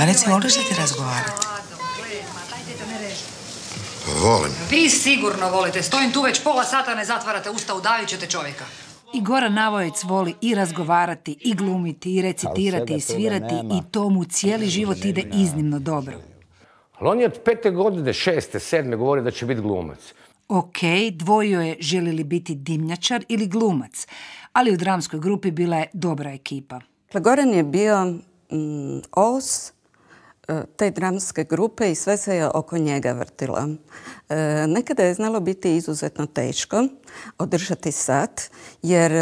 A recimo, voliš da ti razgovarati? Volim. Vi sigurno volite. Stojim tu već pola sata, ne zatvarate usta, udavit ćete čovjeka. I Goran Navojec voli i razgovarati, i glumiti, i recitirati, i svirati, i to mu cijeli život ide iznimno dobro. Ali on je od 5. godine, 6., 7. govori da će biti glumac. Ok, dvojio je želi li biti dimnjačar ili glumac, ali u dramskoj grupi bila je dobra ekipa. Goran je bio os te dramske grupe i sve se je oko njega vrtilo. Nekada je znalo biti izuzetno teško održati sat, jer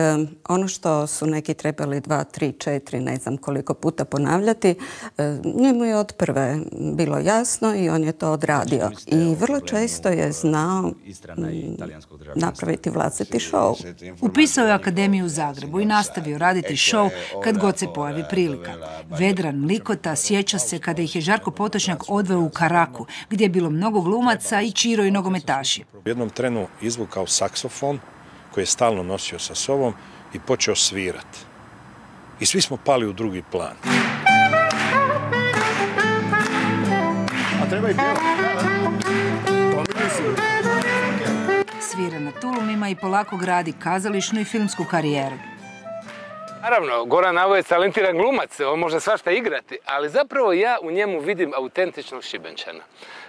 ono što su neki trebali 2, 3, 4, ne znam koliko puta ponavljati, njemu je od prve bilo jasno i on je to odradio. I vrlo često je znao napraviti vlastiti show. Upisao je akademiju u Zagrebu i nastavio raditi show kad god se pojavi prilika. Vedran Likota sjeća se kada ih je Žarko Potočnjak odveo u Karaku, gdje je bilo mnogo glumaca i čiro i nogometaši. U jednom trenu izvukao saksofon koji je stalno nosio sa sobom i počeo svirati. I svi smo pali u drugi plan. A treba i pjevati. Svira na tulumima i polako gradi kazališnu i filmsku karijeru. Naravno, Goran Navojec talentiran glumac, on može svašta igrati, ali zapravo ja u njemu vidim autentičnog Šibenčana.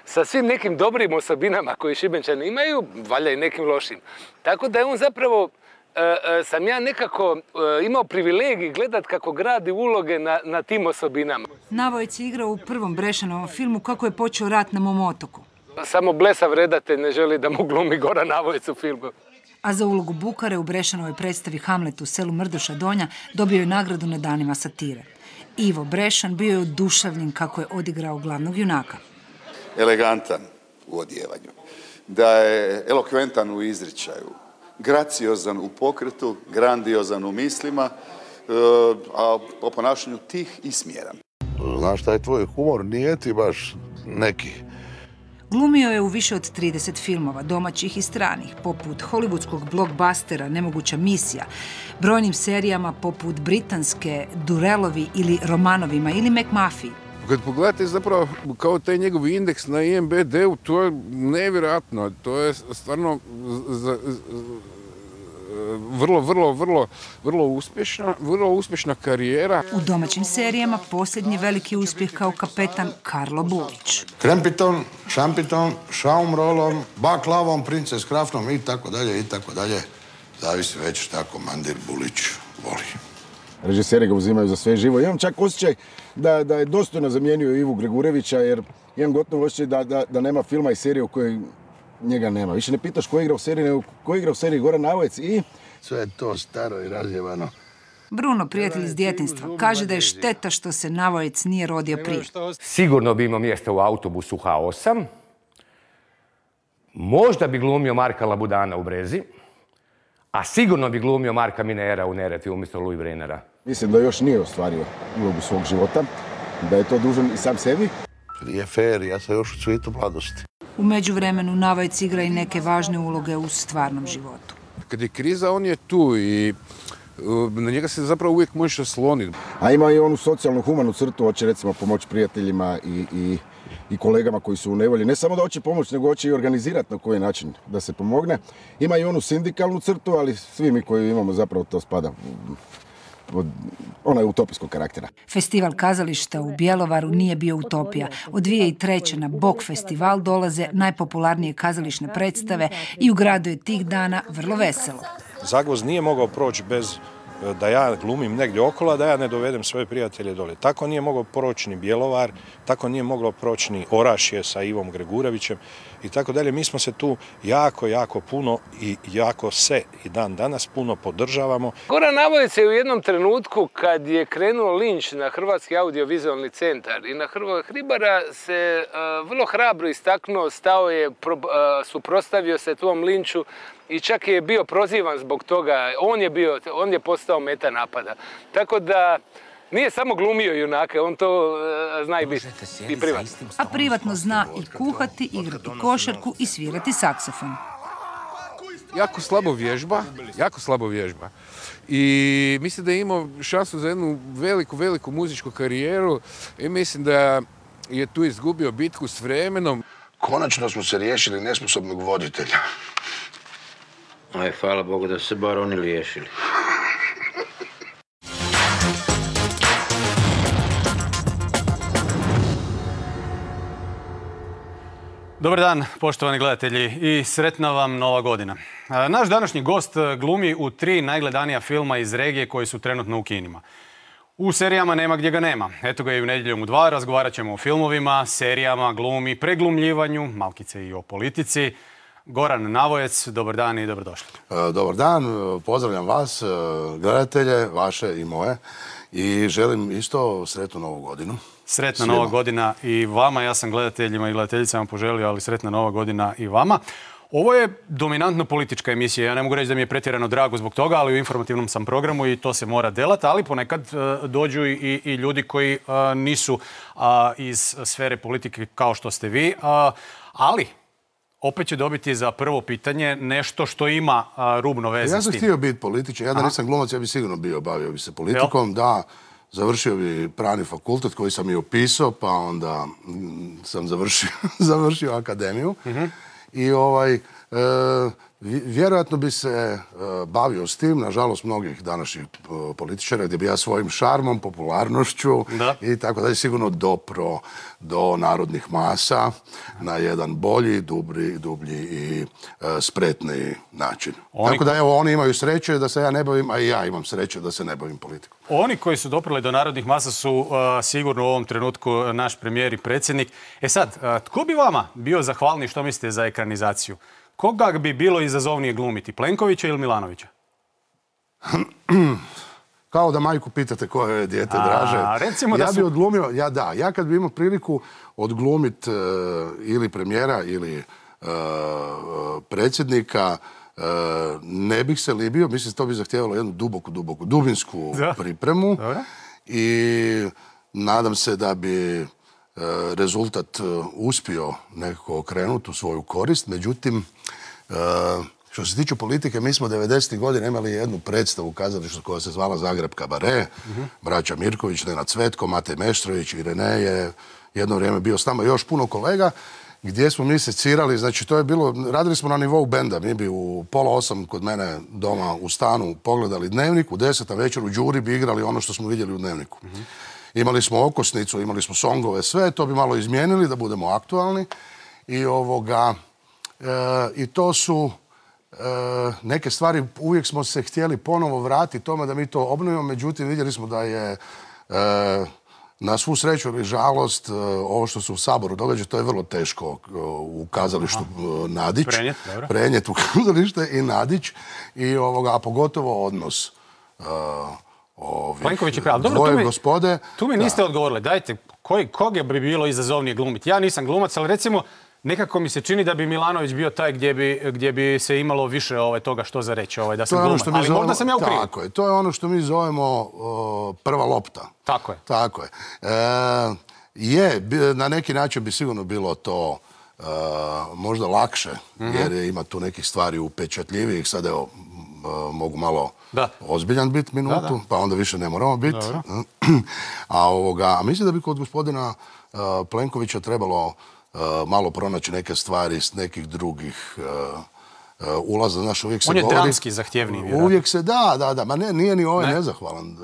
Sa svim nekim dobrim osobinama koje Šibenčani imaju, valjda i nekim lošim. Tako da je on zapravo, sam ja nekako imao privilegij gledat kako gradi uloge na tim osobinama. Navojec je igrao u prvom Brešanovom filmu Kako je počeo rat na mom otoku. Samo blesav redatelj ne želi da mu glumi Goran Navojec u filmu. A za ulogu Bukare u Brešanovoj predstavi Hamlet u selu Mrduša Donja dobio je nagradu na danima satire. Ivo Brešan bio je oduševljen kako je odigrao glavnog junaka. Elegantan u odjevanju, da je elokventan u izričaju, graciozan u pokretu, grandiozan u mislima, a po ponašanju tih i smjeran. Znaš šta je tvoj humor, nije ti baš neki. Glumio je u više od 30 filmova, domaćih i stranih, poput hollywoodskog blockbustera Nemoguća misija, brojnim serijama poput britanske Durelovi ili Romanovima ili McMuffy. Kad pogledate zapravo kao taj njegov indeks na IMDb-u, to je nevjerojatno. To je stvarno vrlo uspješna karijera. U domaćim serijama posljednji veliki uspjeh kao kapetan Karlo Bulić. Krempiton, šampiton, šaumrolom, baklavom, princes krafnom i tako dalje i tako dalje. Zavisi već šta komandir Bulić voli. Režiseri ga uzimaju za sve živo. Imam čak osjećaj da je dostojno zamijenio Ivu Gregurevića, jer imam gotovo osjećaj da nema filma i serije u kojoj njega nema. Više ne pitaš ko igra u seriji, nego ko igra u seriji Goran Navojec i... Sve je to staro i razjevano. Bruno, prijatelj iz djetinjstva, kaže da je šteta što se Navojec nije rodio prije. Sigurno bi imao mjesta u autobusu H8. Možda bi glumio Marka Labudana u Brezi. A sigurno bi glumio Marka Minera u Neretvi umjesto Louis Brennera. Mislim da još nije ostvario ulogu svog života, da je to dužan i sam sebi. Nije fair, ja sam još u cvijetu mladosti. U međuvremenu Navojec igra i neke važne uloge u stvarnom životu. Kad je kriza, on je tu i na njega se zapravo uvijek možeš osloniti. A ima i onu socijalnu, humanu crtu, hoće recimo pomoći prijateljima i kolegama koji su u nevolji. Ne samo da hoće pomoći, nego hoće i organizirati na koji način da se pomogne. Ima i onu sindikalnu crtu, ali svi mi koji imamo zapravo to spada ona je utopijskog karaktera. Festival kazališta u Bjelovaru nije bio utopija. Od 2003. na Bok festival dolaze najpopularnije kazališne predstave i u gradu je tih dana vrlo veselo. Zagvozd nije mogao proći bez da ja glumim negdje okolo, a da ja ne dovedem svoje prijatelje dole. Tako nije mogao proći ni Bjelovar, tako nije moglo proći ni Orašje sa Ivom Gregurevićem i tako dalje. Mi smo se tu jako puno i jako se i dan danas puno podržavamo. Goran Navojec je u jednom trenutku kad je krenuo linč na Hrvatski audiovizualni centar i na Hribara se vrlo hrabro istaknuo, stao je, suprotstavio se tom linču i čak je bio prozivan zbog toga. On je postao meta napada. Tako da nije samo glumio junake, on to zna i biti i privatno. A privatno zna i kuhati, igrati košarku i svirati saksofon. jako slabo vježba. I mislim da je imao šansu za jednu veliku muzičku karijeru i mislim da je tu izgubio bitku s vremenom. Konačno smo se riješili nesposobnog voditelja. Aj, hvala Bogu da su se bar oni riješili. Dobar dan, poštovani gledatelji, i sretna vam Nova godina. Naš današnji gost glumi u 3 najgledanija filma iz regije koji su trenutno u kinima. U serijama nema gdje ga nema. Eto ga i u Nedjeljom u 2, razgovarat ćemo o filmovima, serijama, glumi, preglumljivanju, malkice i o politici. Goran Navojec, dobar dan i dobrodošli. Dobar dan, pozdravljam vas, gledatelje, vaše i moje, i želim isto sretnu Novu godinu. Sretna Nova godina i vama, ja sam gledateljima i gledateljicama poželio, ali sretna Nova godina i vama. Ovo je dominantno politička emisija, ja ne mogu reći da mi je pretjerano drago zbog toga, ali u informativnom sam programu i to se mora delati, ali ponekad dođu i ljudi koji nisu iz sfere politike kao što ste vi, ali opet će dobiti za prvo pitanje nešto što ima rubno veze s tim. Ja sam htio biti političar, ja da nisam glumac, ja bi sigurno bavio bi se politikom, da. Završio bi pravni fakultet koji sam i upisao, pa onda sam završio akademiju. I vjerojatno bi se bavio s tim, nažalost mnogih današnjih političara, gdje bi ja svojim šarmom, popularnošću i tako dalje sigurno dopro do narodnih masa na jedan bolji, dublji i spretniji način. Tako da evo, oni imaju sreće da se ja ne bavim, a i ja imam sreće da se ne bavim politikom. Oni koji su doprli do narodnih masa su sigurno u ovom trenutku naš premijer i predsjednik. E sad, tko bi vama bio zahvalniji, što mislite, za ekranizaciju? Koga bi bilo izazovnije glumiti, Plenkovića ili Milanovića? Kao da majku pitate koje je dijete draže. Ja bi odglumio, ja kad bi imao priliku odglumiti ili premijera ili predsjednika, ne bih se libio, mislim to bi zahtijevalo jednu dubinsku pripremu i nadam se da bi rezultat uspio nekako okrenuti u svoju korist. Međutim, što se tiče politike, mi smo 90. godina imali jednu predstavu u kazalištu koja se zvala Zagreb Kabare. Braća Mirković, Nenad Cvetko, Matej Meštrović i Rene je jedno vrijeme bio s nama, još puno kolega, gdje smo mi secirali, znači to je bilo, radili smo na nivou benda, mi bi u 7:30 kod mene doma u stanu pogledali Dnevnik, u 10 večer u Đuri bi igrali ono što smo vidjeli u Dnevniku. Imali smo okosnicu, imali smo songove, sve, to bi malo izmijenili da budemo aktualni i to su neke stvari, uvijek smo se htjeli ponovo vratiti tome da mi to obnovimo, međutim vidjeli smo da je na svu sreću ili žalost ovo što se u Saboru događa, to je vrlo teško u kazalištu nadići, prenijeti u kazalište i nadići, a pogotovo odnos Plenković je pravi. Dvoje gospode. Tu mi niste odgovorili. Dajte, koga bi bilo izazovnije glumiti? Ja nisam glumac, ali recimo nekako mi se čini da bi Milanović bio taj gdje bi se imalo više toga što za reći, da sam glumac. Ali možda sam ja u krivu. Tako je. To je ono što mi zovemo prva lopta. Tako je. Tako je. Na neki način bi sigurno bilo to možda lakše, jer ima tu nekih stvari upečatljivijih. Sad evo, mogu malo ozbiljan biti minutu, pa onda više ne moramo biti. A mislim da bi kod gospodina Plenkovića trebalo malo pronaći neke stvari s nekih drugih ulaza. Znaš, uvijek se on je dramski zahtjevniji, vjerojatno. Uvijek se, da. Ma nije ni ovaj nezahvalan.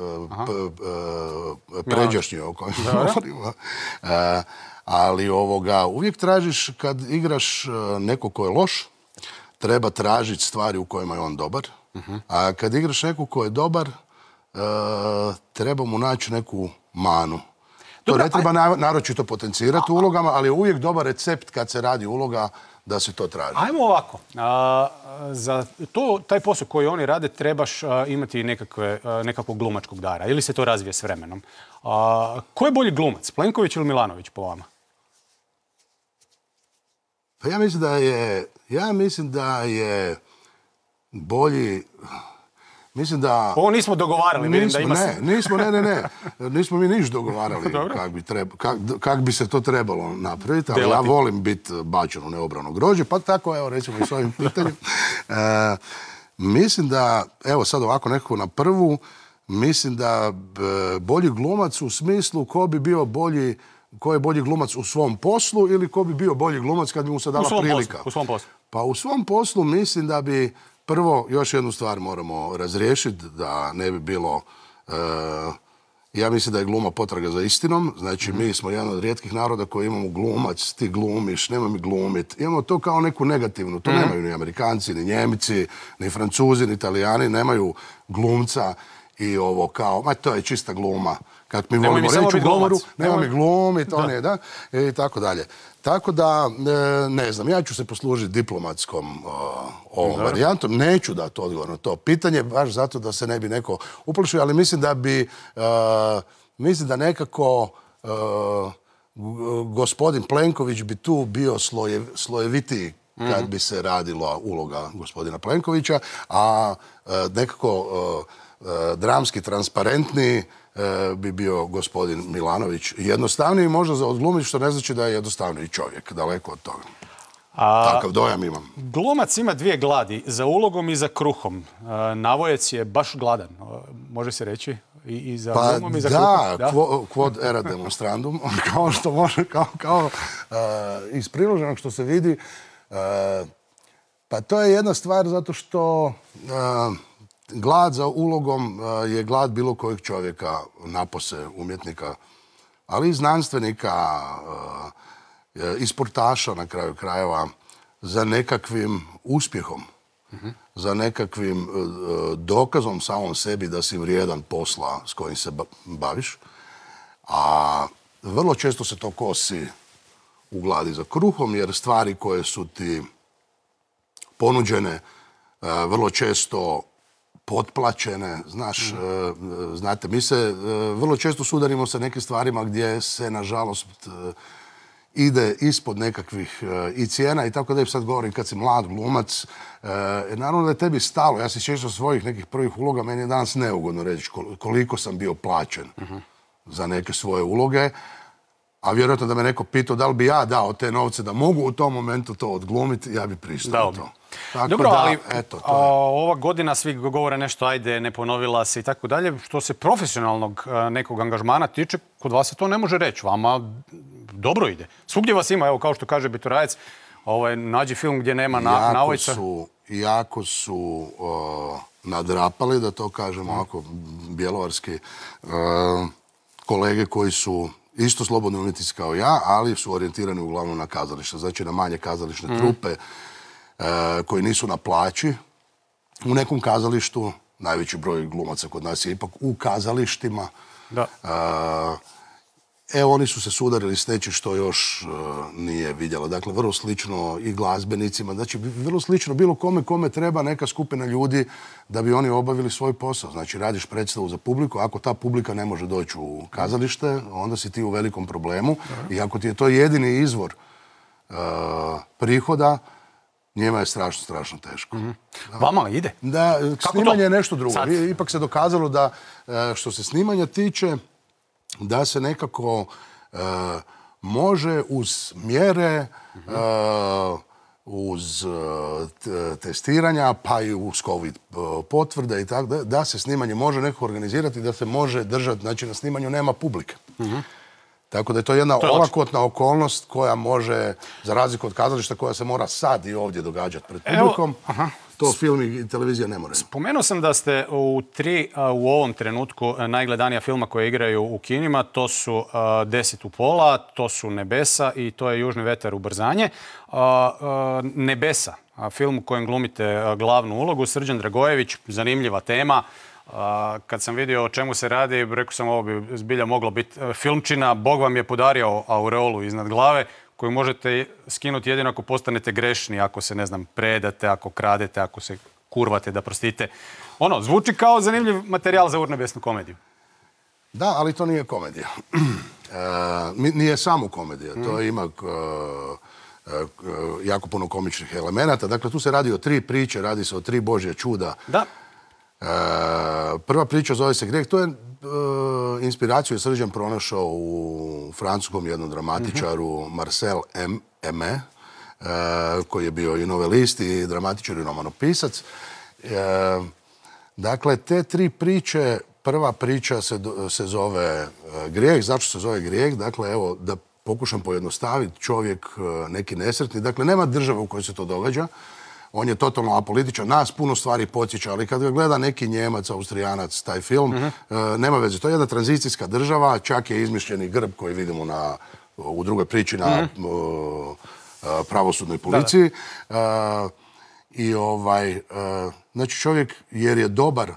Pređašnji o kojem govorimo. Ali uvijek tražiš, kad igraš neko ko je loš, treba tražiti stvari u kojima je on dobar. A kad igraš neko ko je dobar, treba mu naći neku manu. To ne treba naročito potencirati u ulogama, ali je uvijek dobar recept kad se radi uloga da se to traži. Ajmo ovako. Za taj posao koji oni rade trebaš imati nekakvog glumačkog dara. Ili se to razvije s vremenom. Ko je bolji glumac? Plenković ili Milanović po vama? Pa ja mislim da je bolji Mislim da... Ovo nismo dogovarali, vidim da ima se. Nismo mi niš dogovarali kak bi se to trebalo napraviti, ali ja volim biti bačen u neobrano grožđe, pa tako, evo, recimo i s ovim pitanjem. Mislim da, evo sad ovako nekako na prvu, mislim da bolji glumac u smislu ko je bolji glumac u svom poslu ili ko bi bio bolji glumac kad bi mu se dala prilika. U svom poslu. Pa u svom poslu mislim da bi prvo još jednu stvar moramo razriješiti, da ne bi bilo... Ja mislim da je gluma potraga za istinom. Znači, mi smo jedan od rijetkih naroda koji imamo glumac, ti glumiš, nema mi glumit. Imamo to kao neku negativnu. To nemaju ni Amerikanci, ni Njemici, ni Francuzi, ni Italijani. Nemaju glumca i ovo kao, to je čista gluma. Kako mi volimo reći u govoru, nema mi glumit, on je, da, i tako dalje. Tako da, ne znam, ja ću se poslužiti diplomatskom ovom varijantom. Neću dati odgovor na to pitanje, baš zato da se ne bi neko uplašio, ali mislim da bi, mislim da nekako gospodin Plenković bi tu bio slojevitiji kad bi se radila uloga gospodina Plenkovića, a nekako dramski transparentniji bi bio gospodin Milanović. Jednostavniji možda za odglumiti, što ne znači da je jednostavniji čovjek. Daleko od toga. Takav dojam imam. Glumac ima dvije gladi, za ulogom i za kruhom. Navojec je baš gladan, može se reći? I za glumom i za kruhom. Da, quod era demonstrandum, kao što može, kao iz priloženog što se vidi. Pa to je jedna stvar zato što glad za ulogom je glad bilo kojeg čovjeka, napose umjetnika, ali i znanstvenika, i sportaša na kraju krajeva, za nekakvim uspjehom, za nekakvim dokazom samom sebi da si vrijedan posla s kojim se baviš. A vrlo često se to kosi u gladi za kruhom, jer stvari koje su ti ponuđene vrlo često potplaćene, znaš, znate, mi se vrlo često sudarimo sa nekim stvarima gdje se, nažalost, ide ispod nekakvih i cijena i tako da sad govorim kad si mlad glumac. Naravno da je tebi stalo. Ja se sjećam svojih nekih prvih uloga, meni je danas neugodno reći koliko sam bio plaćen za neke svoje uloge, a vjerojatno da me neko pitao da li bi ja dao te novce da mogu u tom momentu to odglumiti, ja bi pristao to. Dobro, ali ova godina svi govore nešto, ajde, ne ponovila se i tako dalje. Što se profesionalnog nekog angažmana tiče, kod vas se to ne može reći. Vama dobro ide. Svugdje vas ima, evo, kao što kaže Biturajec, nađi film gdje nema Navojca. Jako su nadrapali, da to kažemo ovako bjelovarski, kolege koji su isto slobodni umjetnici kao ja, ali su orijentirani uglavnom na kazalište. Znači na manje kazališne trupe koji nisu na plaći. U nekom kazalištu, najveći broj glumaca kod nas je ipak u kazalištima. Oni su se sudarili s nečim što još nije vidjelo. Dakle, vrlo slično i glazbenicima. Znači, vrlo slično bilo kome treba neka skupina ljudi da bi oni obavili svoj posao. Znači, radiš predstavu za publiku. Ako ta publika ne može doći u kazalište, onda si ti u velikom problemu. I ako ti je to jedini izvor prihoda, njima je strašno teško. Vama ide? Da, snimanje je nešto drugo. Ipak se dokazalo da, što se snimanja tiče, da se nekako može uz mjere, uz testiranja, pa i uz COVID potvrde i tako, da se snimanje može nekako organizirati, da se može držati, znači na snimanju nema publike. Tako da je to jedna olakotna okolnost koja može, za razliku od kazališta, koja se mora sad i ovdje događati pred publikom. To film i televizija ne mora. Spomenuo sam da ste u ovom trenutku najgledanija filma koje igraju u kinima. To su 10 u pola, to su Nebesa i to je Južni vetar ubrzanje. Nebesa, film u kojem glumite glavnu ulogu, Srđan Dragojević, zanimljiva tema. Kad sam vidio o čemu se radi, rekao sam ovo bi zbilja moglo biti filmčina. Bog vam je podario aureolu iznad glave koju možete skinuti jedino ako postanete grešni, ako se, ne znam, predate, ako kradete, ako se kurvate, da prostite. Zvuči kao zanimljiv materijal za urnebesnu komediju. Da, ali to nije komedija. Nije samo komedija. To ima jako puno komičnih elemenata. Dakle, tu se radi o 3 priče, radi se o 3 božje čuda. Da. Prva priča zove se Grijeh. To je inspiraciju je Srđan pronašao u francuskom jednom dramatičaru Marcel Aimé, koji je bio i novelist i dramatičar i romanopisac. Dakle, te tri priče, prva priča se zove Grijeh. Zašto se zove Grijeh? Dakle, evo, da pokušam pojednostaviti, čovjek neki nesretni. Dakle, nema države u kojoj se to događa. On je totalno apolitičan. Nas puno stvari podsjeća, ali kad ga gleda neki Njemac, Austrijanac, taj film, nema veze. To je jedna tranzicijska država, čak je izmišljeni grb koji vidimo u drugoj priči na pravosudnoj policiji. I znači čovjek, jer je dobar,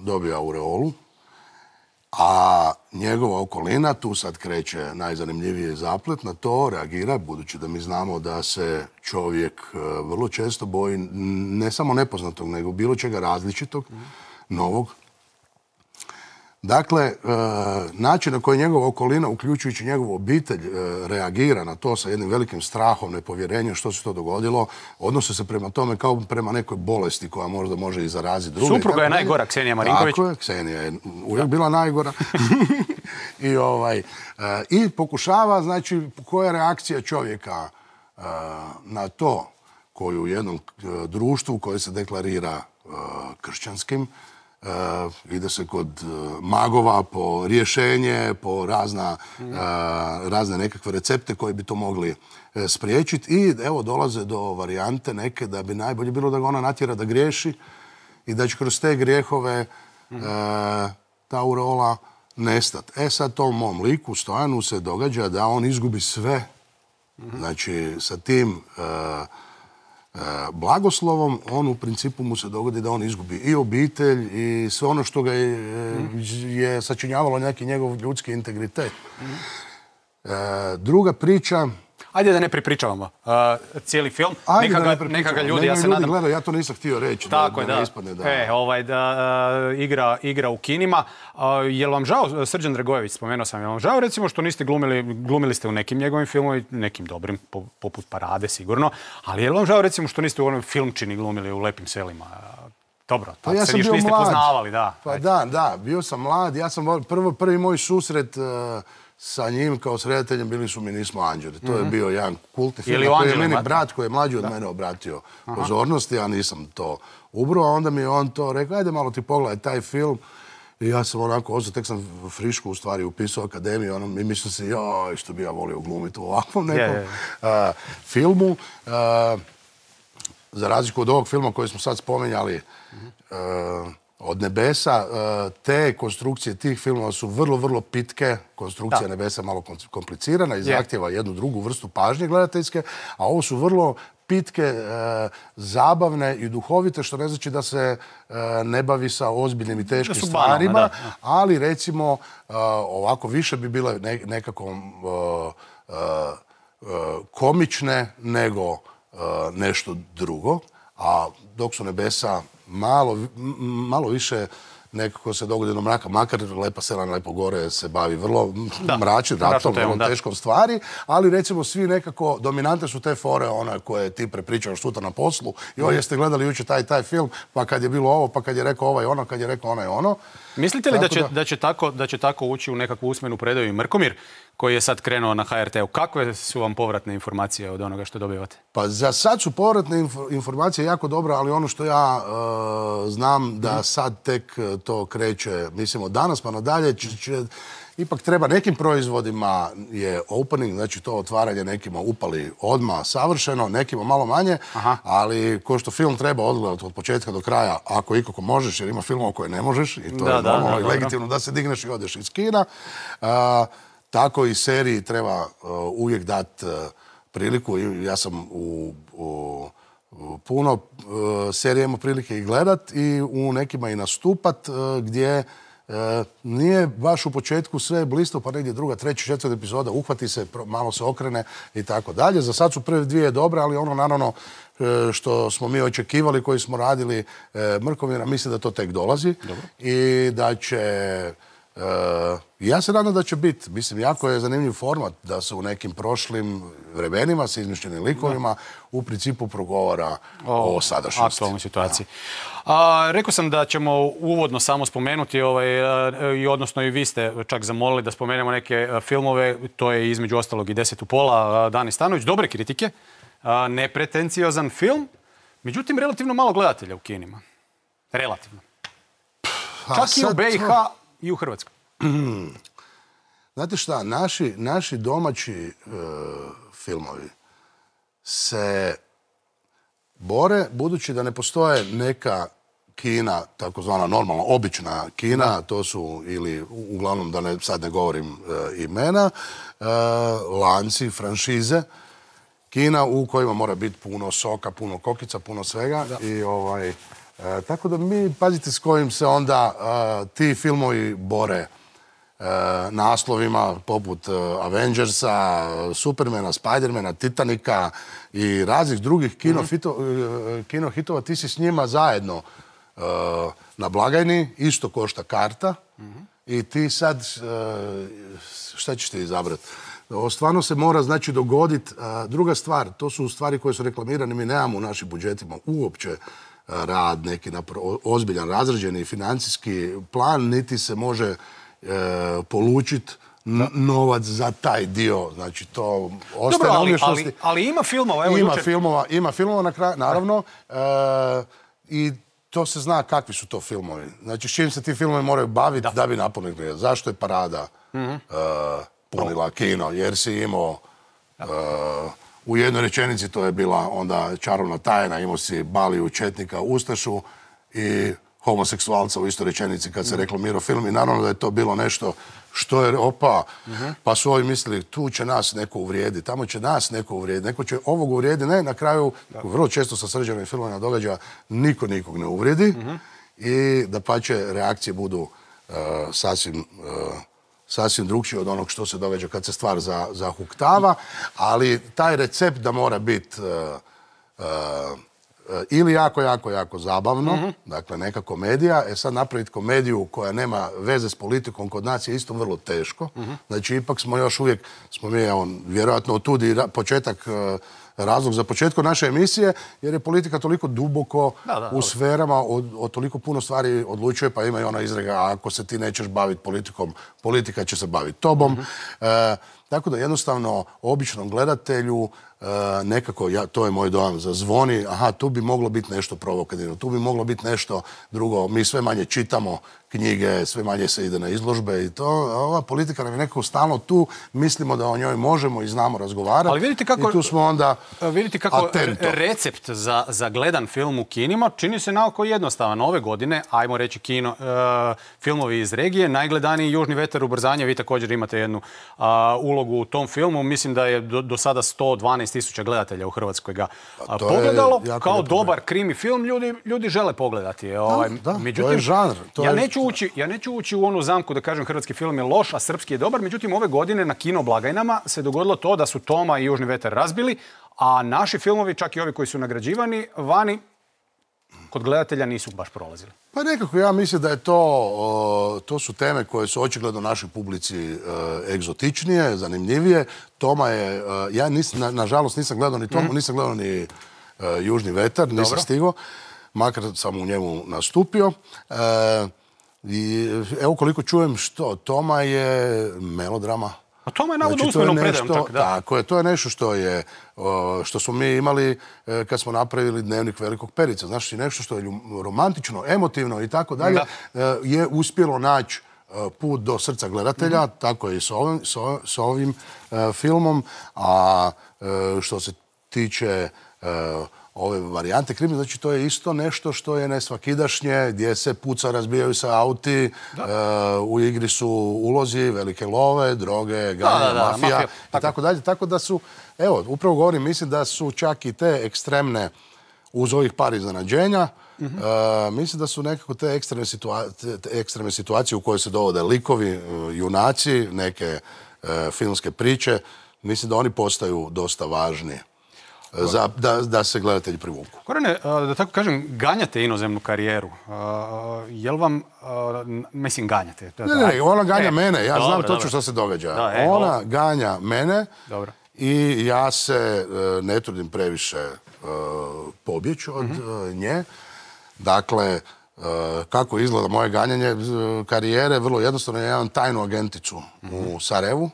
dobio aureolu, a njegova okolina, tu sad kreće najzanimljiviji zaplet, na to reagira, budući da mi znamo da se čovjek vrlo često boji ne samo nepoznatog, nego bilo čega različitog, novog. Dakle, način na koji njegova okolina, uključujući njegovu obitelj, reagira na to sa jednim velikim strahom, nepovjerenjem što se to dogodilo, odnose se prema tome kao prema nekoj bolesti koja možda može i zaraziti druge. Supruga je najgora, Ksenija Marinković. Tako je, Ksenija je uvijek bila najgora. I pokušava, znači, koja je reakcija čovjeka na to koju u jednom društvu koje se deklarira kršćanskim, ide se kod magova po rješenje, po razne nekakve recepte koji bi to mogli spriječiti i evo dolaze do varijante neke da bi najbolje bilo da ga ona natjera da griješi i da će kroz te grijehove ta aureola nestati. Sad tom mom liku, Stojanu, se događa da on izgubi sve. Znači, sa tim blagoslovom, on u principu mu se dogodi da on izgubi i obitelj i sve ono što ga je sačinjavalo neki njegov ljudski integritet. Druga priča... Ajde da ne prepričavamo cijeli film. Neka ga ljudi, ja se nadam... Gledaju, ja to nisam htio reći. Tako je, da. Da igra u kinima. Je li vam žao, Srđan Dragojević, spomenuo sam, je li vam žao recimo što niste glumili ste u nekim njegovim filmovima, nekim dobrim, poput Parade sigurno, ali je li vam žao recimo što niste u onom filmčini glumili u Lepim selima? Dobro, tad se još niste poznavali, da. Pa da, bio sam mlad, ja sam prvi moj susret sa njim kao s redateljem bili su Mi nismo anđeli. To je bio jedan kultni film koji je meni brat koji je mlađi od mene obratio pozornost. Ja nisam to ubrao, a onda mi je on to rekao, ajde malo ti pogledaj taj film. I ja sam onako, tek sam frišku u stvari upisao akademiju i mislim se, joj, što bi ja volio glumiti u ovakvom nekom filmu. Za razliku od ovog filma koji smo sad spomenjali, Od nebesa, te konstrukcije tih filmova su vrlo, vrlo pitke. Konstrukcija nebesa malo komplicirana i zahtjeva jednu drugu vrstu pažnje gledateljske, a ovo su vrlo pitke, zabavne i duhovite, što ne znači da se ne bavi sa ozbiljnim i teškim stvarima, ali recimo ovako više bi bile nekako komične nego nešto drugo, a dok su nebesa malo više nekako se dogodi do mraka, makar Lepa sela na Lepo gore se bavi vrlo mračnim ratom, vrlo teškom stvari, ali recimo svi nekako dominante su te fore one koje ti prepričaš sutra na poslu. Joj, jeste gledali jučer taj film, pa kad je bilo ovo, pa kad je rekao ovaj ono, kad je rekao onaj ono. Mislite li da će tako ući u nekakvu usmenu predaju i Mrkomir, koji je sad krenuo na HRT-u? Kakve su vam povratne informacije od onoga što dobivate? Pa za sad su povratne informacije jako dobro, ali ono što ja znam da sad tek to kreće, mislim od danas pa nadalje, ipak treba nekim proizvodima je opening, znači to otvaranje nekima upali odmah savršeno, nekima malo manje, ali ko što film treba odgledati od početka do kraja, ako ikako možeš, jer ima filmova koje ne možeš i to je normalno i legitimno da se digneš i odeš iz kina. Tako i seriji treba uvijek dati priliku. Ja sam u puno serija imao prilike i gledat i u nekima i nastupat gdje nije baš u početku sve blisto, pa negdje druga, treća, četvrta epizoda uhvati se, malo se okrene i tako dalje. Za sad su prve dvije dobre, ali ono naravno što smo mi očekivali, koji smo radili Mrkomira, mislim da to tek dolazi i da će Ja se nadam da će biti. Mislim, jako je zanimljiv format da se u nekim prošlim vremenima sa izmišljenim likovima u principu progovara o sadašnjosti. Aktualnoj situaciji. Rekao sam da ćemo uvodno samo spomenuti, odnosno i vi ste čak zamolili da spomenemo neke filmove, to je između ostalog i 10 u pola, Dani Stanović, dobre kritike, nepretenciozan film, međutim relativno malo gledatelja u kinima. Relativno. Čak i u BiH i u Hrvatskoj. Znate šta, naši domaći filmovi se bore, budući da ne postoje neka kina, takozvana normalna, obična kina, to su ili, uglavnom da sad ne govorim imena, lanci, franšize, kina u kojima mora biti puno soka, puno kokica, puno svega. I tako da mi, pazite s kojim se onda ti filmovi bore naslovima poput Avengersa, Supermana, Spidermana, Titanika i raznih drugih kino hitova. Ti si s njima zajedno na blagajni, isto košta karta i ti sad, šta ćeš ti izabrati? Stvarno se mora, znači, dogoditi. Druga stvar, to su stvari koje su reklamirane, mi nemamo u našim budžetima uopće rad, neki ozbiljan, razrađeni financijski plan, niti se može polučiti novac za taj dio. Znači, to ostaje na umješnosti. Ali ima filmova, evo Ima filmova na kraju, naravno. I to se zna kakvi su to filmovi. Znači, s čim se ti filmovi moraju baviti da bi napunili. Zašto je Parada punila kino? Jer si imao u jednoj rečenici, to je bila onda čarovna tajna, imao si Baliju, četnika, ustašu i homoseksualca u istoj rečenici kad se reklamirao film i naravno da je to bilo nešto što je pa su ovi mislili tu će nas neko uvrijediti, tamo će nas neko uvrijediti, neko će ovog uvrijediti, ne, na kraju vrlo često sa srđanim filmovima događa niko nikog ne uvrijedi i da pače reakcije budu sasvim drugčije od onog što se događa kad se stvar zahuktava, ali taj recept da mora biti ili jako zabavno, dakle neka komedija, sad napraviti komediju koja nema veze s politikom kod nas je isto vrlo teško. Znači ipak smo još uvijek, vjerojatno otud i početak, razlog za početku naše emisije, jer je politika toliko duboko u sferama, o toliko puno stvari odlučuje, pa ima i ona izreka, ako se ti nećeš baviti politikom, politika će se baviti tobom. Tako da jednostavno običnom gledatelju nekako, to je moj dojam, zazvoni, tu bi moglo biti nešto provokativno, tu bi moglo biti nešto drugo. Mi sve manje čitamo knjige, sve manje se ide na izložbe i to. Ova politika nam je nekako stalno tu, mislimo da o njoj možemo i znamo razgovarati. Ali vidite kako, i tu smo onda recept za gledan film u kinima čini se naoko jednostavan. Ove godine, ajmo reći filmovi iz regije, najgledaniji Južni vetar, Ubrzanje, vi također imate jednu ulogu u tom filmu. Mislim da je do sada 112.000 gledatelja u Hrvatskoj ga pogledalo. Kao dobar krimi film ljudi žele pogledati. To je žanr. Ja neću ući u onu zamku da kažem hrvatski film je loš, a srpski je dobar. Međutim, ove godine na kino blagajnama se dogodilo to da su Toma i Južni vetar razbili, a naši filmovi, čak i ovi koji su nagrađivani, vani kod gledatelja nisu baš prolazili. Pa nekako ja mislim da je to su teme koje su očigledno našoj publici egzotičnije, zanimljivije. Toma je, ja nažalost nisam gledao ni Tomu, nisam gledao ni Južni vetar, nisam stigao, makar sam u njemu nastupio. Evo koliko čujem što, Toma je melodrama. A Toma je navodno usmenom predajom. Tako je, to je nešto što smo mi imali kad smo napravili Dnevnik velikog Perica. Znači, nešto što je romantično, emotivno i tako dalje, je uspjelo naći put do srca gledatelja, tako je i s ovim filmom. A što se tiče ove varijante krimi, znači to je isto nešto što je nesvakidašnje, gdje se puca, razbijaju se auti, u igri su ulozi, velike love, droge, ganja, mafija i tako dalje. Tako da su, evo, upravo govorim, mislim da su čak i te ekstremne, uz ovih par iznenađenja, mislim da su nekako te ekstremne situacije u kojoj se dovode likovi, junaci, neke filmske priče, mislim da oni postaju dosta važni. da se gledatelji privuku. Gorane, da tako kažem, ganjate inozemnu karijeru. Jel vam, mislim, ganjate? Ne, ona ganja mene. Ja znam točno što se događa. Ona ganja mene i ja se ne trudim previše pobjeći od nje. Dakle, kako izgleda moje ganjanje karijere, vrlo jednostavno, ja imam tajnu agenticu u Sarajevu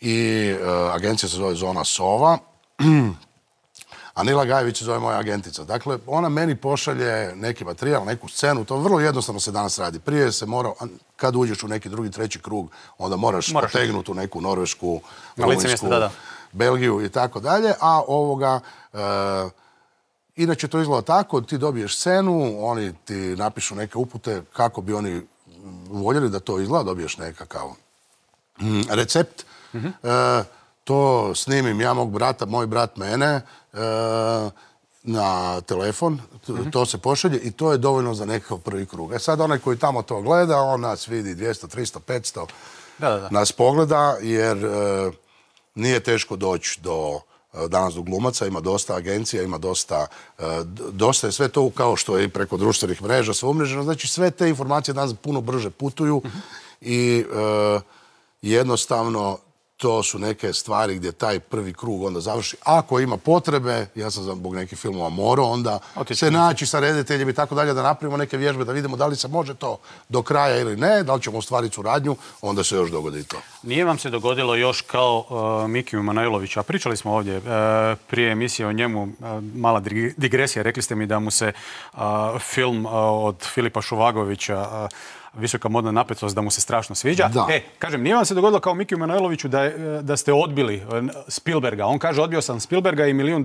i agencija se zove Zona Sova, a Nila Gajević se zove moja agentica. Dakle, ona meni pošalje neki materijal, neku scenu, to vrlo jednostavno se danas radi. Prije se mora, kad uđeš u neki drugi, treći krug, onda moraš potegnuti u neku Norvešku, Rumunjsku, Belgiju i tako dalje, a ovoga... Inače to izgleda tako, ti dobiješ scenu, oni ti napišu neke upute kako bi oni voljeli da to izgleda, dobiješ nekakav recept. To snimim ja mog brata, moj brat mene na telefon, to se pošalje i to je dovoljno za nekakav prvi krug. Sad onaj koji tamo to gleda, on nas vidi 200, 300, 500, nas pogleda jer nije teško doći danas do glumaca, ima dosta agencija, ima dosta je sve to kao što je i preko društvenih mreža sve umreženo, znači sve te informacije danas puno brže putuju i jednostavno to su neke stvari gdje taj prvi krug onda završi. Ako ima potrebe, ja sam zbog nekih filmova morao onda se naći sa rediteljem i tako dalje, da napravimo neke vježbe, da vidimo da li se može to do kraja ili ne, da li ćemo ostvariti suradnju, onda se još dogodi to. Nije vam se dogodilo još kao Mikiju Manojloviću, a pričali smo ovdje prije emisije o njemu, mala digresija, rekli ste mi da mu se film od Filipa Šuvagovića Visoka modna napetost, da mu se strašno sviđa. Kažem, nije vam se dogodilo kao Mikiju Manojloviću da ste odbili Spielberga. On kaže, odbio sam Spielberga i $1 milion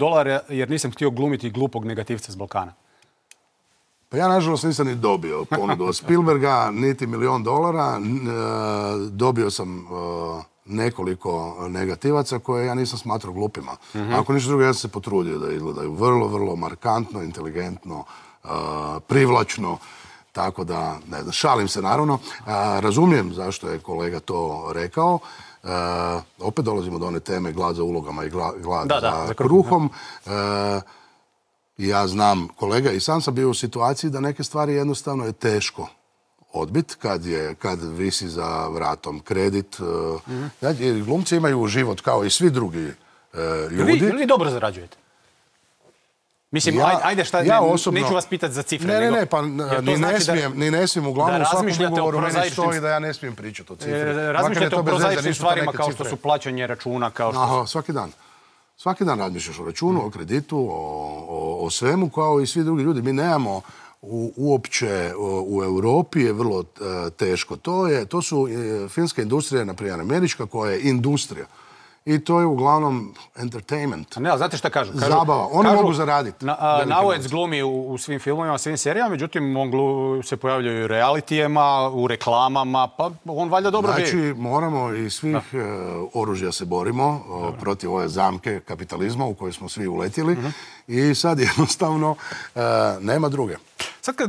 jer nisam htio glumiti glupog negativca s Balkana. Pa ja, nažalost, nisam ni dobio ponudu od Spielberga, niti $1 milion. Dobio sam nekoliko negativaca koje ja nisam smatrao glupima. Ako ništa drugo, ja sam se potrudio da izgledaju vrlo, vrlo markantno, inteligentno, privlačno. Tako da, ne znam, šalim se naravno. Razumijem zašto je kolega to rekao. Opet dolazimo do one teme glad za ulogama i glad za kruhom. Ja znam kolega i sam sam bio u situaciji da neke stvari jednostavno je teško odbit kad visi za vratom kredit. Glumci imaju život kao i svi drugi ljudi. Vi dobro zarađujete? Mislim, ajde šta, neću vas pitati za cifre. Ne, pa ni ne smijem uglavnom u svakom ugovoru meni stoji da ja ne smijem pričati o cifre. Razmišljate o prozaičnim stvarima kao što su plaćanje računa, kao što su... Svaki dan. Svaki dan razmišljaš o računu, o kreditu, o svemu kao i svi drugi ljudi. Mi nemamo uopće u Europi je vrlo teško. To su filmska industrija, naprimjer američka, koja je industrija. I to je uglavnom entertainment. Ne, ali znate šta kažu? Zabava. Oni mogu zaraditi. Naujec glumi u svim filmovima, svim serijama, međutim, on se pojavljaju u realitijema, u reklamama, pa on valjda dobro bi. Znači, moramo i svih oružja se borimo protiv ove zamke kapitalizma u kojoj smo svi uletjeli i sad jednostavno nema druge. Sad kad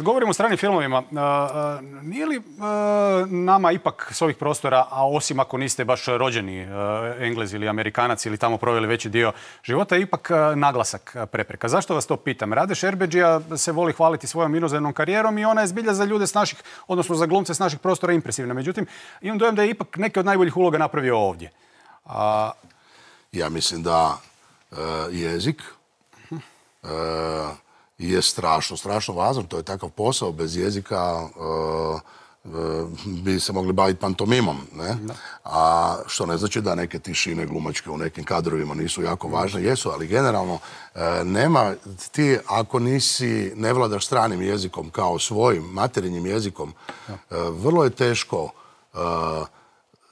govorimo o stranim filmovima, nije li nama ipak s ovih prostora, a osim ako niste baš rođeni Englez ili Amerikanac ili tamo proveli veći dio života, ipak naglasak prepreka? Zašto vas to pitam? Rade Šerbedžija se voli hvaliti svojom inozemnom karijerom i ona je zbilja za ljude s naših, odnosno za glumce s naših prostora impresivna. Međutim, imam dojam da je ipak neke od najboljih uloga napravio ovdje. Ja mislim da jezik je strašno važan. To je takav posao. Bez jezika bi se mogli baviti pantomimom. A što ne znači da neke tišine glumačke u nekim kadrovima nisu jako važne. Jesu, ali generalno nema ti, ako ne vladaš stranim jezikom kao svojim materinjim jezikom, vrlo je teško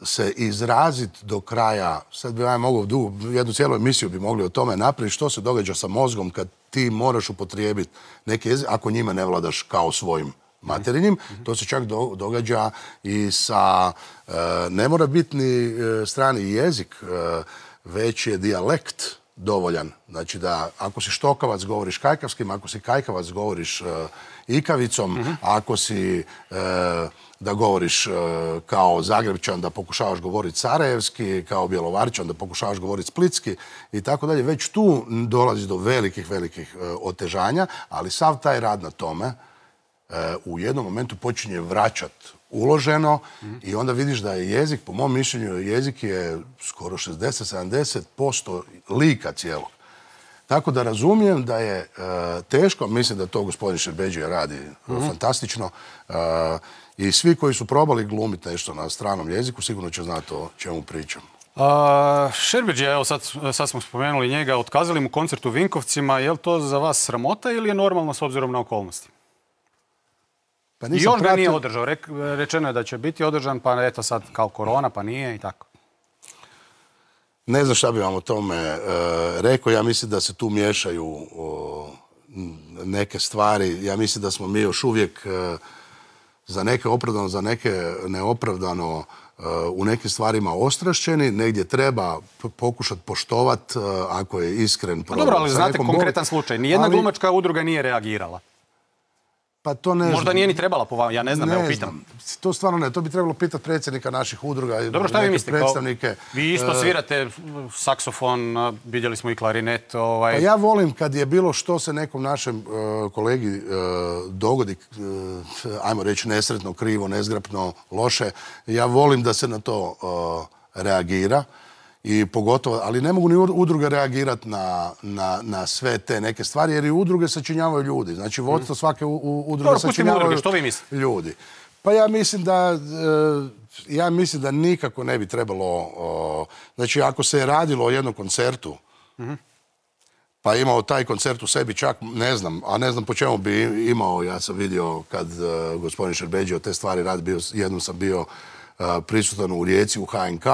se izraziti do kraja. Sad bi ja mogao jednu cijelu emisiju bi mogli o tome napraviti što se događa sa mozgom kad ti moraš upotrijebiti neke jezike, ako njime ne vladaš kao svojim materinjim. To se čak događa i sa, ne mora biti ni strani jezik, već je dijalekt dovoljan. Znači da ako si štokavac govoriš kajkavskim, ako si kajkavac govoriš ikavicom, ako si da govoriš kao Zagrebčan da pokušavaš govoriti sarajevski, kao Bjelovarčan da pokušavaš govoriti splitski i tako dalje. Već tu dolazi do velikih otežanja, ali sav taj rad na tome u jednom momentu počinje vraćati uloženo i onda vidiš da je jezik, po mom mišljenju, jezik je skoro 60-70% lika cijelog. Tako da razumijem da je teško, mislim da to gospodin Šerbedžija radi fantastično i svi koji su probali glumiti nešto na stranom jeziku sigurno će znati o čemu pričam. Šerbedžija, evo sad smo spomenuli njega, otkazali mu koncert u Vinkovcima, je li to za vas sramota ili je normalno s obzirom na okolnosti? I još ga nije održao. Rečeno je da će biti održan, pa eto sad kao korona, pa nije i tako. Ne znam šta bi vam o tome rekao. Ja mislim da se tu miješaju neke stvari. Ja mislim da smo mi još uvijek za neke opravdano, za neke neopravdano u nekim stvarima ostrašćeni. Negdje treba pokušati poštovati ako je iskren. Dobro, ali znate konkretan slučaj. Nijedna glumačka udruga nije reagirala. Pa to ne znam. Možda nije ni trebala po vama, ja ne znam, evo pitam. To stvarno ne, to bi trebalo pitati predsjednika naših udruga. Dobro, šta vi mislite? Vi isto svirate saksofon, vidjeli smo i klarinet. Pa ja volim kad je bilo što se nekom našem kolegi dogodi, ajmo reći nesretno, krivo, nezgrapno, loše, ja volim da se na to reagira. I pogotovo, ali ne mogu ni udruge reagirati na sve te neke stvari, jer i udruge sačinjavaju ljudi. Znači, vodstvo svake udruge sačinjavaju ljudi. Pa ja mislim da nikako ne bi trebalo... Znači, ako se je radilo o jednom koncertu, pa imao taj koncert u sebi čak, ne znam, a ne znam po čemu bi imao, ja sam vidio kad gospodin Šerbedžija te stvari radi, jednom sam bio prisutan u Rijeci, u HNK,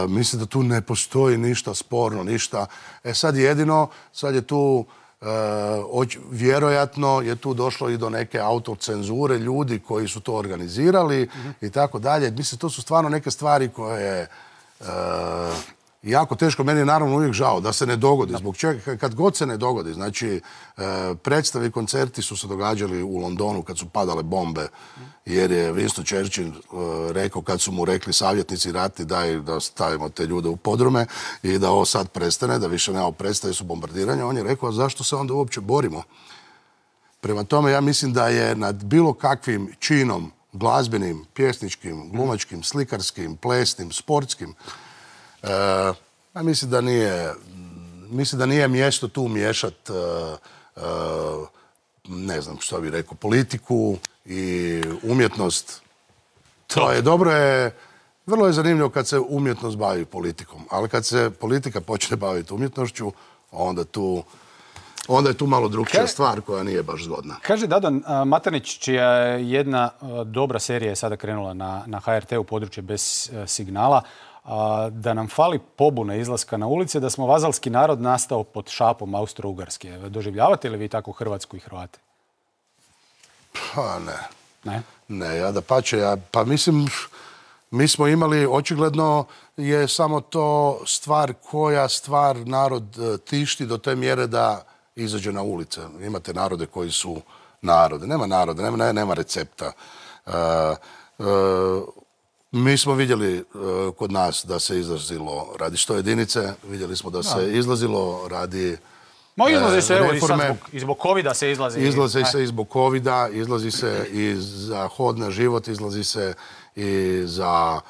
mislim da tu ne postoji ništa sporno, ništa. Sad je tu, vjerojatno je tu došlo i do neke autocenzure ljudi koji su to organizirali i tako dalje. Mislim, to su stvarno neke stvari koje jako teško, meni je naravno uvijek žao da se ne dogodi. Zbog čega, kad god se ne dogodi, znači predstavi, koncerti su se događali u Londonu kad su padale bombe, jer je Winston Churchill rekao, kad su mu rekli savjetnici ratni daj da stavimo te ljude u podrume i da ovo sad prestane, da više nema prestaje su bombardiranja, on je rekao, a zašto se onda uopće borimo? Prema tome, ja mislim da je nad bilo kakvim činom, glazbenim, pjesničkim, glumačkim, slikarskim, plesnim, sportskim, mislim da nije mjesto tu miješati, ne znam što bi rekao, politiku i umjetnost. To je dobro, vrlo je zanimljivo kad se umjetnost bavi politikom, ali kad se politika počne baviti umjetnošću, onda je tu malo drugčija stvar koja nije baš zgodna. Kaže Dado Maternić, čija je jedna dobra serija je sada krenula na HRT u područje bez signala, da nam fali pobune izlaska na ulice, da smo vazalski narod nastao pod šapom Austro-Ugarske. Doživljavate li vi tako Hrvatsku i Hrvate? Pa ne. Ne? Ne, ja da pače, pa mislim, mi smo imali, očigledno je samo to stvar koja narod tišti do te mjere da izađe na ulice. Imate narode koji su narode. Nema naroda, nema recepta. Mi smo vidjeli kod nas da se izlazilo radi 100 jedinice, vidjeli smo da se izlazilo radi izlazi se, evo, reforme. I zbog covida se izlazi. Izlazi se i zbog covida, izlazi se i za hod na život, izlazi se i za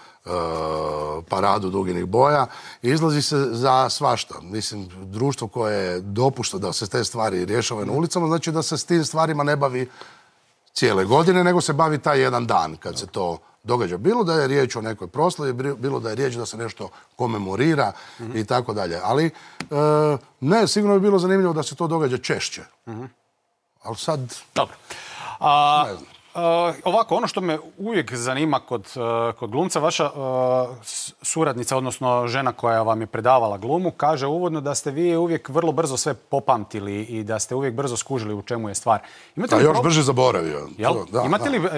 paradu duginih boja, izlazi se za svašta. Mislim, društvo koje dopušta da se te stvari rješavaju na ulicama, znači da se s tim stvarima ne bavi cijele godine, nego se bavi taj jedan dan kad se to događa. Bilo da je riječ o nekoj proslavi, bilo da je riječ da se nešto komemorira i tako dalje. Ali ne, sigurno bi bilo zanimljivo da se to događa češće. Ali sad... Dobro. Ne znam. Ovako, ono što me uvijek zanima kod glumca, vaša suradnica, odnosno žena koja vam je predavala glumu, kaže uvodno da ste vi uvijek vrlo brzo sve popamtili i da ste uvijek brzo skužili u čemu je stvar. Još brže zaboravio.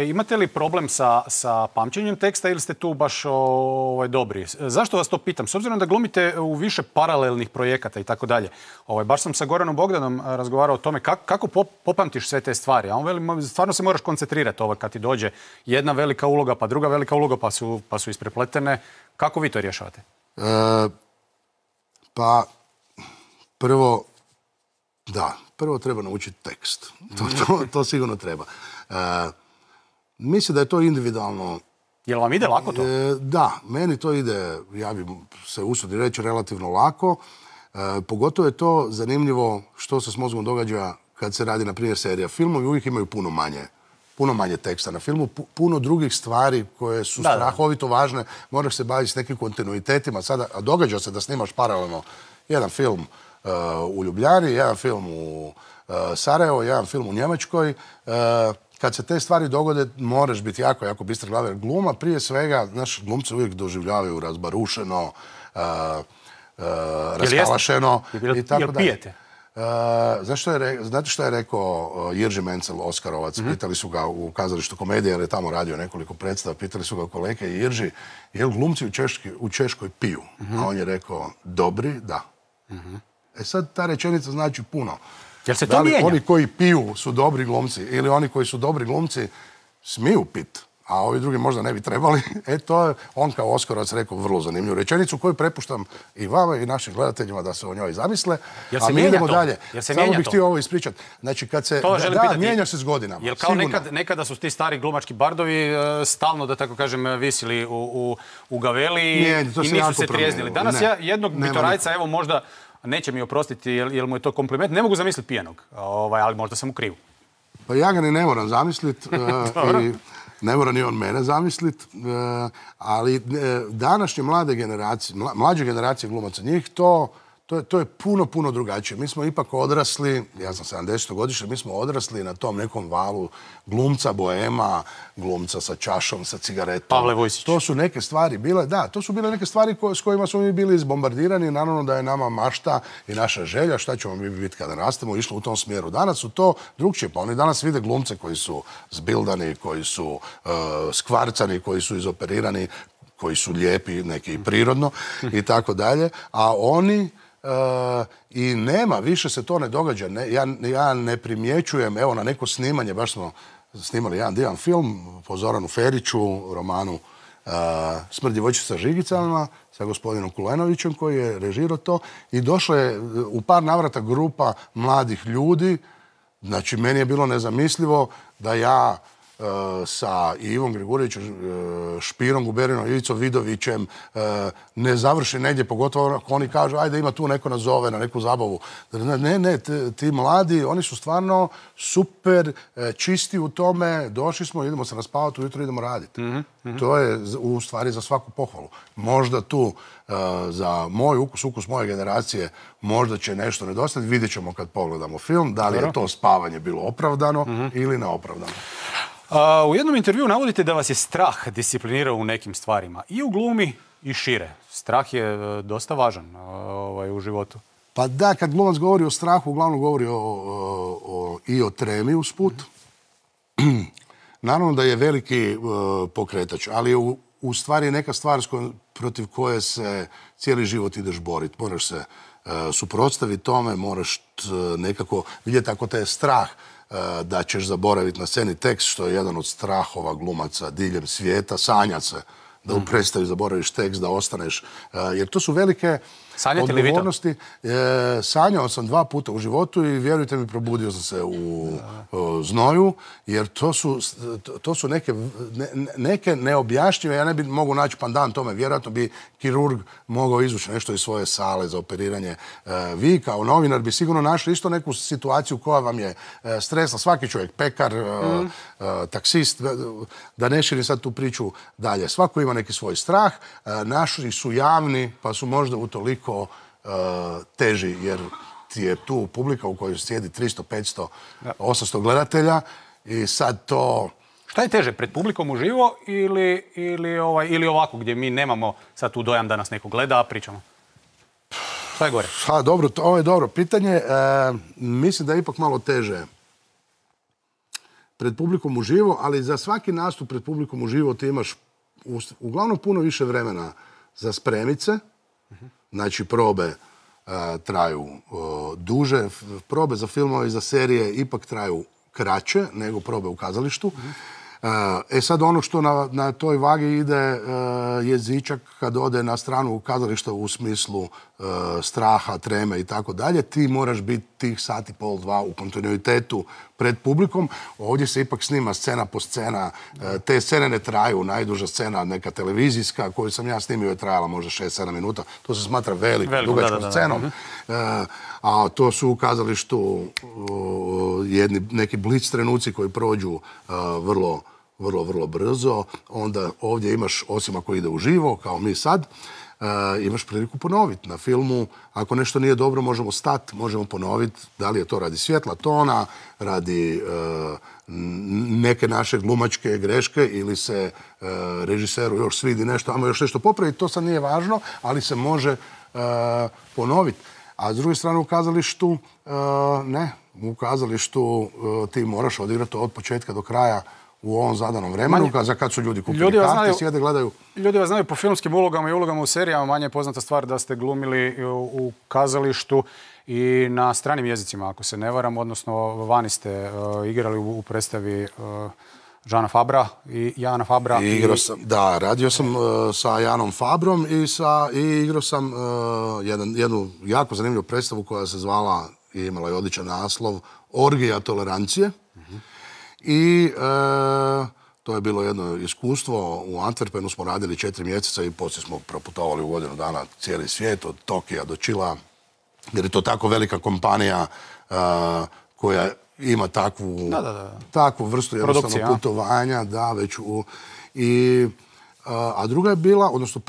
Imate li problem sa pamćenjem teksta ili ste tu baš dobri? Zašto vas to pitam? S obzirom da glumite u više paralelnih projekata i tako dalje. Baš sam sa Goranom Bogdanom razgovarao o tome kako popamtiš sve te stvari. A on veli, stvarno se moraš koncentrirati kad ti dođe jedna velika uloga, pa druga velika uloga, pa su isprepletene. Kako vi to rješavate? Pa, prvo treba naučiti tekst. To sigurno treba. Mislim da je to individualno. Jel vam ide lako to? Da, meni to ide, ja bi se usudio reći, relativno lako. Pogotovo je to zanimljivo što se s mozgom događa kad se radi, na primjer, serija. Filmovi uvijek imaju puno manje teksta na filmu, puno drugih stvari koje su strahovito važne. Moraš se baviti s nekim kontinuitetima. Sada, a događa se da snimaš paralelno jedan film u Ljubljani, jedan film u Sarajevo, jedan film u Njemačkoj. Kad se te stvari dogode, moraš biti jako, jako bistar glave. Gluma, prije svega, naši glumci uvijek doživljavaju razbarušeno, raskalašeno i tako dalje. Jel pijete? Znate što je rekao Jirži Menzel, Oskarovac? Pitali su ga u kazalištu Komedije, jer je tamo radio nekoliko predstava, pitali su ga kolege Jirži, jel glumci u Češkoj piju? A on je rekao, dobri, da. Sad ta rečenica znači puno. Jel se to mijenja? Oni koji piju su dobri glumci ili oni koji su dobri glumci smiju pit, a ovi drugi možda ne bi trebali. To je on kao Oskarovac rekao vrlo zanimljivu rečenicu koju prepuštam i vama i našim gledateljima da se o njoj zamisle. A mi idemo dalje. Samo bih htio ovo ispričati. Znači, kad se... mijenja se s godinama. Jer kao nekada su ti stari glumački bardovi stalno, da tako kažem, visili u gaveli i nisu se trijeznili. Danas ja jednog bitorajca, evo možda, neće mi oprostiti jer mu je to kompliment, ne mogu zamisliti pijanog, ali možda sam u krivu. Pa ja ga ni ne moram zamisliti. Ne mora ni on mene zamisliti, ali današnje mlađe generacije glumaca, njih to je puno drugačije. Mi smo ipak odrasli, ja sam 70-godišnji, mi smo odrasli na tom nekom valu glumca, boema, glumca sa čašom, sa cigaretom. Pavle Vojsić. To su neke stvari bile, to su bile neke stvari s kojima smo mi bili izbombardirani. Naravno da je nama mašta i naša želja, šta ćemo mi biti kada rastemo, išlo u tom smjeru. Danas su to drugčije, pa oni danas vide glumce koji su zbildani, koji su skvarcani, koji su izoperirani, koji su lijepi, neki prirodno i tako dalje, a oni i nema, više se to ne događa. Ja ne primjećujem, evo na neko snimanje, baš smo snimali jedan divan film po Zoranu Feriću, romanu Smrt djevojčice sa žigicama, sa gospodinom Kulenovićem koji je režirao to i došla je u par navrata grupa mladih ljudi. Znači, meni je bilo nezamislivo da ja sa Ivom Grigurijevićem, Špirom Guberinom, Ivicom Vidovićem ne završi negdje, pogotovo ako oni kažu ajde ima tu neko nas zove na neku zabavu. Ne, ti mladi, oni su stvarno super čisti u tome, došli smo, idemo se naspavati, ujutro idemo raditi. To je u stvari za svaku pohvalu. Možda tu za moj ukus moje generacije možda će nešto nedostati, vidjet ćemo kad pogledamo film, da li je to spavanje bilo opravdano ili neopravdano. U jednom intervjuu navodite da vas je strah disciplinirao u nekim stvarima. I u glumi i šire. Strah je dosta važan u životu. Pa da, kad glumac govori o strahu, uglavnom govori i o tremi usput. Naravno da je veliki pokretač, ali je u stvari neka stvar protiv koje se cijeli život ideš boriti. Moraš se suprotstaviti tome, moraš nekako vidjeti ako te je strah da ćeš zaboraviti na sceni tekst, što je jedan od strahova glumaca diljem svijeta, sanjat se da u predstavi zaboraviš tekst, da ostaneš, jer to su velike odgovornosti. Sanjao sam 2 puta u životu i vjerujte mi, probudio sam se u znoju, jer to su neke neobjašnjive, ja ne bi mogu naći pandan tome, vjerojatno bi kirurg mogao izvući nešto iz svoje sale za operiranje. Vi kao novinar bi sigurno našli isto neku situaciju koja vam je stresna. Svaki čovjek, pekar, taksist, da ne širim sad tu priču dalje. Svako ima neki svoj strah, naši su javni, pa su možda utoliko teži, jer ti je tu publika u kojoj sjedi 300, 500, 800 gledatelja i sad to Šta je teže, pred publikom uživo ili ovako gdje mi nemamo sad tu dojam da nas neko gleda, a pričamo? Šta je gore? Dobro, ovo je dobro pitanje. Mislim da je ipak malo teže pred publikom uživo, ali za svaki nastup pred publikom uživo ti imaš uglavnom puno više vremena za spremice. Znači, probe traju duže. Probe za filmove i za serije ipak traju kraće nego probe u kazalištu. Sad ono što na toj vagi ide jezičak kad ode na stranu kazališta u smislu straha, treme i tako dalje, ti moraš biti tih sat i pol, dva u kontinuitetu pred publikom. Ovdje se ipak snima scena po scena. Te scene ne traju. Najduža scena, neka televizijska koju sam ja snimio, je trajala možda 6-7 minuta. To se smatra velikom, dugačkom scenom. A to su u kazalištu neki blic trenuci koji prođu vrlo brzo. Onda ovdje imaš, osim ako ide uživo, kao mi sad, imaš priliku ponoviti. Na filmu, ako nešto nije dobro, možemo stati, možemo ponoviti. Da li je to radi svjetla tona, radi neke naše glumačke greške ili se režiseru još svidi nešto, ajmo još nešto popraviti, to sad nije važno, ali se može ponoviti. A s druge strane u kazalištu, ne. U kazalištu ti moraš odigrati od početka do kraja u ovom zadanom vremenu, za kad su ljudi kupili karte, sjede, gledaju. Ljudi vas znaju po filmskim ulogama i ulogama u serijama, manje je poznata stvar da ste glumili u kazalištu i na stranim jezicima, ako se ne varam, odnosno vani ste igrali u predstavi Žana Fabra i Jana Fabra. Da, radio sam sa Janom Fabrom i igrao sam jednu jako zanimljivu predstavu koja se zvala i imala je odličan naslov Orgija tolerancije. I to je bilo jedno iskustvo. U Antwerpenu smo radili 4 mjeseca i poslije smo proputovali u godinu dana cijeli svijet, od Tokija do Čila, jer je to tako velika kompanija koja ima takvu vrstu jednostavno putovanja. A druga je bila, odnosno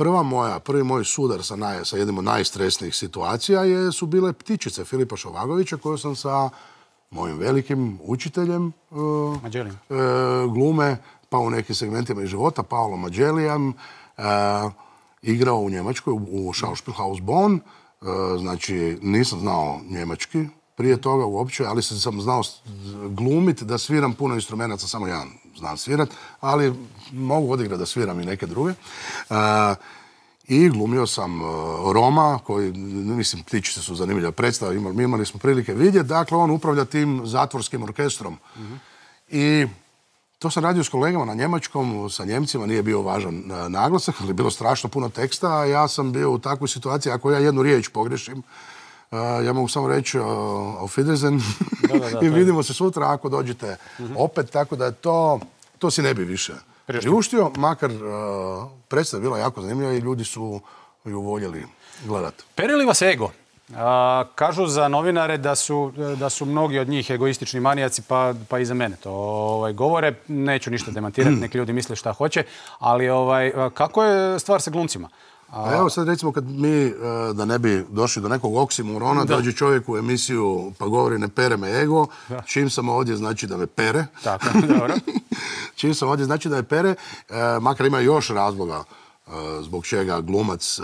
prvi moj sudar sa jednim od najstresnijih situacija su bile Ptičice Filipa Šovagovića, koju sam sa mojim velikim učiteljem glume, pa u nekim segmentima i života, Paolo Mađelijem, igrao u Njemačkoj, u Schauspielhaus Bonn. Znači, nisam znao njemački prije toga uopće, ali sam znao glumiti, da sviram puno instrumentaca, samo ja znam svirat, ali mogu odigrati da sviram i neke druge. I glumio sam Roma, koji, mislim, Ptičice su zanimljiva predstava, imali smo prilike vidjeti. Dakle, on upravlja tim zatvorskim orkestrom. I to sam radio s kolegama na njemačkom, sa Njemcima, nije bio važan naglasak, ali je bilo strašno puno teksta, a ja sam bio u takvoj situaciji, ako ja jednu riječ pogrešim, ja mogu samo reći auf Wiedersehen i vidimo se sutra ako dođete opet, tako da to si ne bi više priuštio, makar predstava bila jako zanimljiva i ljudi su ju voljeli gledati. Pere li vas ego? Kažu za novinare da su mnogi od njih egoistični manijaci, pa i za mene to govore. Neću ništa demantirati, neki ljudi misle šta hoće, ali kako je stvar sa glumcima? Evo sad recimo kad mi, da ne bi došli do nekog oksimorona, dođe čovjek u emisiju pa govori ne pere me ego, čim sam ovdje znači da me pere. Tako, dobro. Čim sam ovdje znači da me pere, makar ima još razloga zbog čega glumac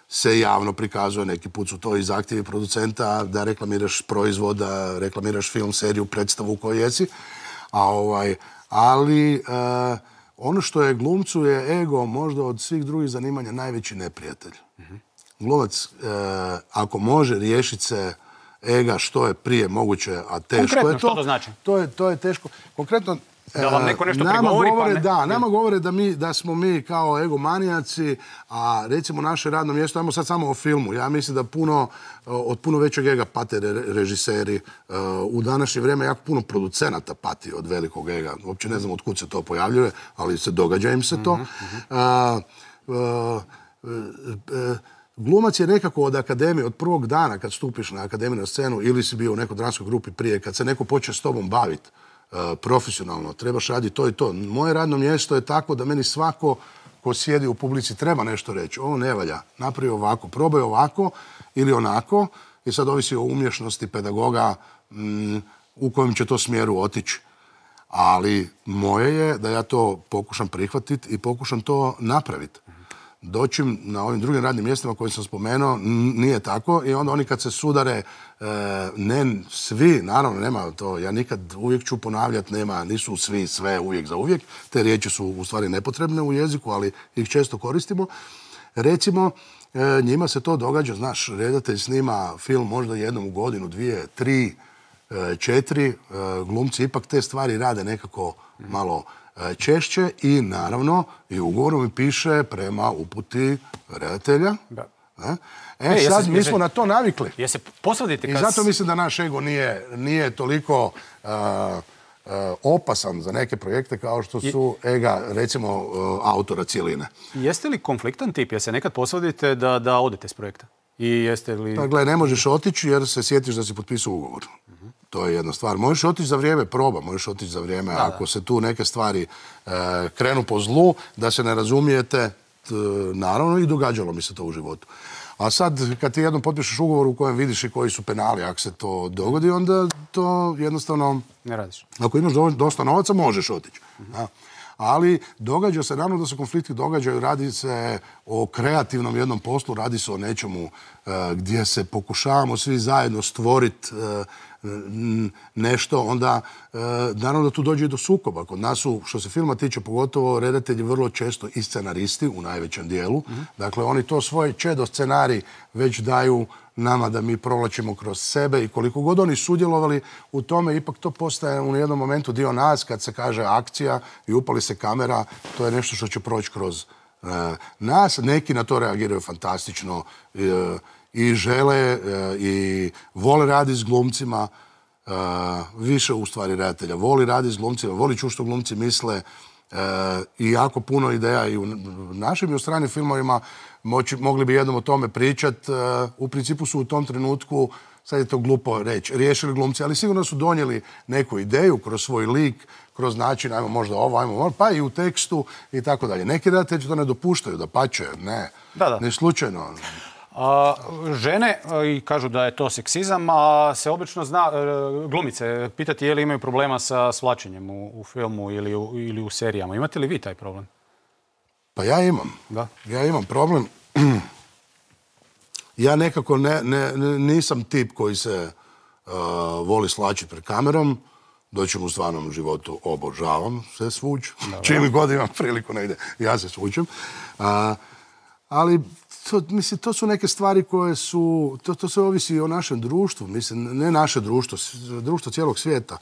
se javno prikazuje, neki put su to i zahtjevi producenta, da reklamiraš proizvod, da reklamiraš film, seriju, predstavu u kojoj jesi. Ali ono što je glumcu je ego možda od svih drugih zanimanja najveći neprijatelj. Glumac, ako može riješiti se ega što je prije moguće, a teško je to. Što to znači? To je teško. Konkretno, da vam neko nešto prigovori, pa ne? Da, nama govore da smo mi kao egomanijaci, a recimo naše radno mjesto, ajmo sad samo o filmu. Ja mislim da od puno većeg ega pate režiseri. U današnje vrijeme jako puno producenata pati od velikog ega. Uopće ne znam od kud se to pojavljuje, ali događa im se to. Glumac je nekako od akademije, od prvog dana kad stupiš na akademiju na scenu ili si bio u nekoj dramskoj grupi prije, kad se neko počne s tobom baviti profesionalno, trebaš raditi to i to. Moje radno mjesto je tako da meni svako ko sjedi u publici treba nešto reći. Ovo ne valja, napravi ovako, probaj ovako ili onako i sad ovisi o umješnosti pedagoga u kojem će to smjeru otići. Ali moje je da ja to pokušam prihvatiti i pokušam to napraviti. Doćim na ovim drugim radnim mjestima koje sam spomenuo, nije tako i onda oni kad se sudare, ne svi, naravno nema to, ja nikad uvijek ću ponavljati, nisu svi sve uvijek za uvijek, te riječi su u stvari nepotrebne u jeziku, ali ih često koristimo. Recimo, njima se to događa, znaš, redatelj snima film možda jednom u godinu, 2, 3, 4, glumci ipak te stvari rade nekako malo češće i naravno i ugovorom mi piše prema uputi redatelja. Sad mi smo na to navikli. I zato mislim da naš ego nije toliko opasan za neke projekte kao što su ega, recimo, autora cijeline. Jeste li konfliktan tip? Jeste nekad posvadite da odete s projekta? I jeste li... Pa gle, ne možeš otići jer se sjetiš da si potpisao ugovor. To je jedna stvar. Možeš otići za vrijeme proba, možeš otići za vrijeme ako se tu neke stvari krenu po zlu, da se ne razumijete, naravno i događalo mi se to u životu. A sad, kad ti jednom potpišeš ugovor u kojem vidiš i koji su penali, ako se to dogodi, onda to jednostavno... Ne radiš. Ako imaš dosta novaca, možeš otići. Ali događa se, naravno da se konflikti događaju, radi se o kreativnom jednom poslu, radi se o nečemu gdje se pokušavamo svi zajedno stvoriti nešto, onda naravno da tu dođe i do sukoba. Kod nas su, što se filma tiče, pogotovo redatelji vrlo često i scenaristi u najvećem dijelu. Dakle, oni to svoje čedo scenarij već daju nama da mi provlačimo kroz sebe i koliko god oni sudjelovali u tome, ipak to postaje u jednom momentu dio nas kad se kaže akcija i upali se kamera, to je nešto što će proći kroz nas. Neki na to reagiraju fantastično i žele i vole raditi s glumcima, više u stvari redatelja voli raditi s glumcima, voli čuti što glumci misle i jako puno ideja i u našim i u stranim filmovima mogli bi jednom o tome pričati. U principu su u tom trenutku, sad je to glupo reći, riješili glumci, ali sigurno su donijeli neku ideju kroz svoj lik, kroz način, ajmo možda ovo, ajmo ovo, pa i u tekstu i tako dalje. Neki redatelji to ne dopuštaju, da pače, ne slučajno. Žene, i kažu da je to seksizam, a se obično zna, glumice, pitati je li imaju problema sa svlačenjem u filmu ili u serijama. Imate li vi taj problem? Pa ja imam. Ja imam problem. Ja nekako nisam tip koji se voli svlačiti pred kamerom. Doćem u stvarnom životu, obožavam se svući. Čim god imam priliku negdje, ja se svučem. Ali to su neke stvari koje su, to sve ovisi o našem društvu, mislim, ne naše društvo, društvo cijelog svijeta.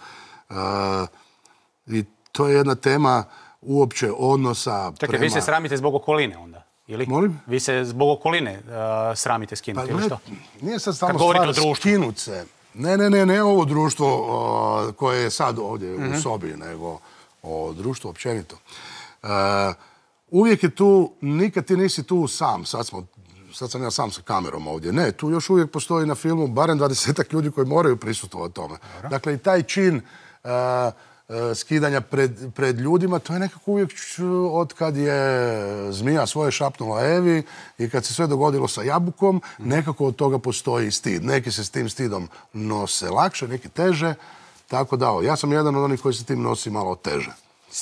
I to je jedna tema uopće odnosa prema... Čekaj, vi se sramite zbog okoline onda, ili? Molim? Vi se zbog okoline sramite skinuti, ili što? Nije sad samo stvar skinuti se. Ne ovo društvo koje je sad ovdje u sobi, nego o društvu općenito. Uvijek je tu, nikad ti nisi tu sam, sad sam ja sam sa kamerom ovdje. Ne, tu još uvijek postoji na filmu barem 20 ljudi koji moraju prisustvovati tome. Dakle, i taj čin skidanja pred ljudima, to je nekako uvijek od kad je zmija svoje šapnula Evi i kad se sve dogodilo sa jabukom, nekako od toga postoji stid. Neki se s tim stidom nose lakše, neki teže. Tako da, ja sam jedan od onih koji se tim nosi malo teže.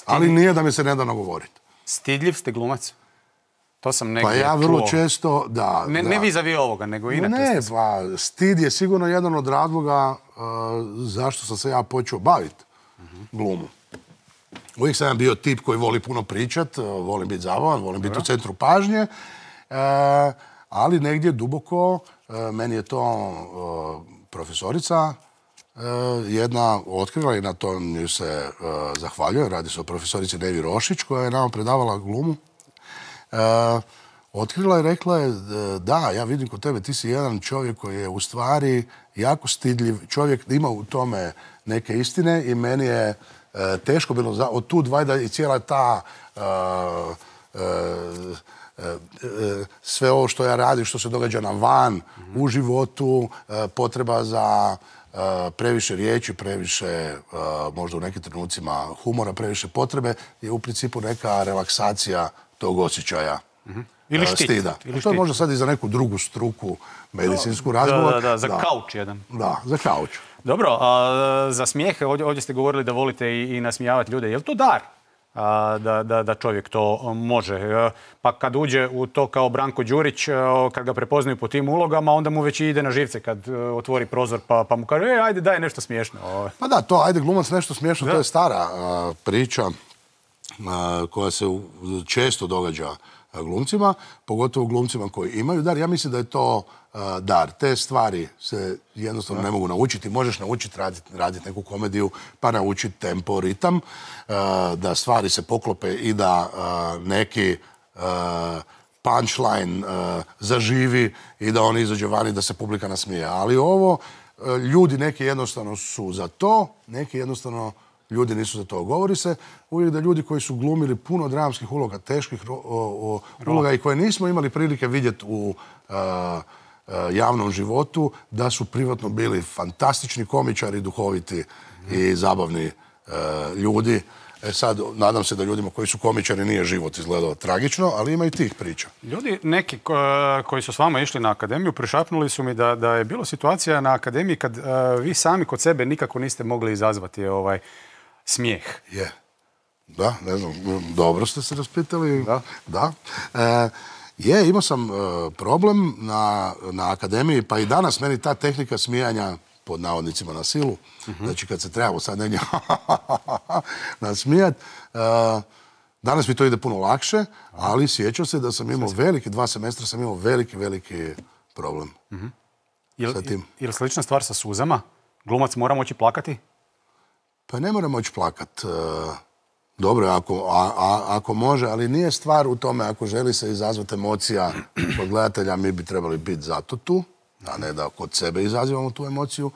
Ali nije da mi se ne da nagovoriti. Stidljiv ste glumac? To sam negdje čuo. Pa ja vrlo često, da. Ne vis-a-vis ovoga, nego inače. Ne, pa stid je sigurno jedan od razloga zašto sam se ja počeo baviti glumu. Uvijek sam bio tip koji voli puno pričat, volim biti zabavan, volim biti u centru pažnje, ali negdje duboko, meni je to profesorica jedna otkrila i na to nju se zahvaljuje. Radi se o profesorici Nevi Rošić koja je nama predavala glumu. Otkrila je i rekla je da, ja vidim kod tebe, ti si jedan čovjek koji je u stvari jako stidljiv. Čovjek ima u tome neke istine i meni je teško bilo od tu dvajda i cijela ta sve ovo što ja radim, što se događa na van, u životu, potreba za previše riječi, previše, možda u nekim trenucima humora, previše potrebe, je u principu neka relaksacija tog osjećaja stida. To je možda sad i za neku drugu struku medicinsku razgovor. Da, za kauč jedan. Da, za kauč. Dobro, a za smijeh, ovdje ste govorili da volite i nasmijavati ljude. Je li to dar? Da čovjek to može. Pa kad uđe u to kao Branko Đurić, kad ga prepoznaju po tim ulogama, onda mu već ide na živce kad otvori prozor pa mu kaže ajde daj nešto smiješno. Pa da, to ajde glumac nešto smiješno, to je stara priča koja se često događa glumcima, pogotovo glumcima koji imaju dar. Ja mislim da je to dar. Te stvari se jednostavno ne mogu naučiti. Možeš naučiti raditi neku komediju, pa naučiti tempo, ritam, da stvari se poklope i da neki punchline zaživi i da on izađe vani, da se publika nasmije. Ali ovo, ljudi neki jednostavno su za to, neki jednostavno ljudi nisu za to. Govori se uvijek da ljudi koji su glumili puno dramskih uloga, teških uloga i koje nismo imali prilike vidjeti u javnom životu, da su privatno bili fantastični komičari, duhoviti i zabavni ljudi. Sad, nadam se da ljudima koji su komičari nije život izgledao tragično, ali ima i tih priča. Ljudi, neki koji su s vama išli na akademiju, prišapnuli su mi da je bilo situacija na akademiji kad vi sami kod sebe nikako niste mogli izazvati smijeh. Je. Da, ne znam, dobro ste se raspitali. Da. Imao sam problem na akademiji, pa i danas meni ta tehnika smijanja, pod navodnicima na silu, znači kad se trebamo sad negdje nasmijat, danas mi to ide puno lakše, ali sjećam se da sam imao 2 semestra sam imao veliki problem sa tim. Je li slična stvar sa suzama? Glumac mora moći plakati? Pa ne mora moći plakat. Dobro, ako može, ali nije stvar u tome ako želi se izazvati emocija kod gledatelja, mi bi trebali biti zato tu, a ne da kod sebe izazivamo tu emociju.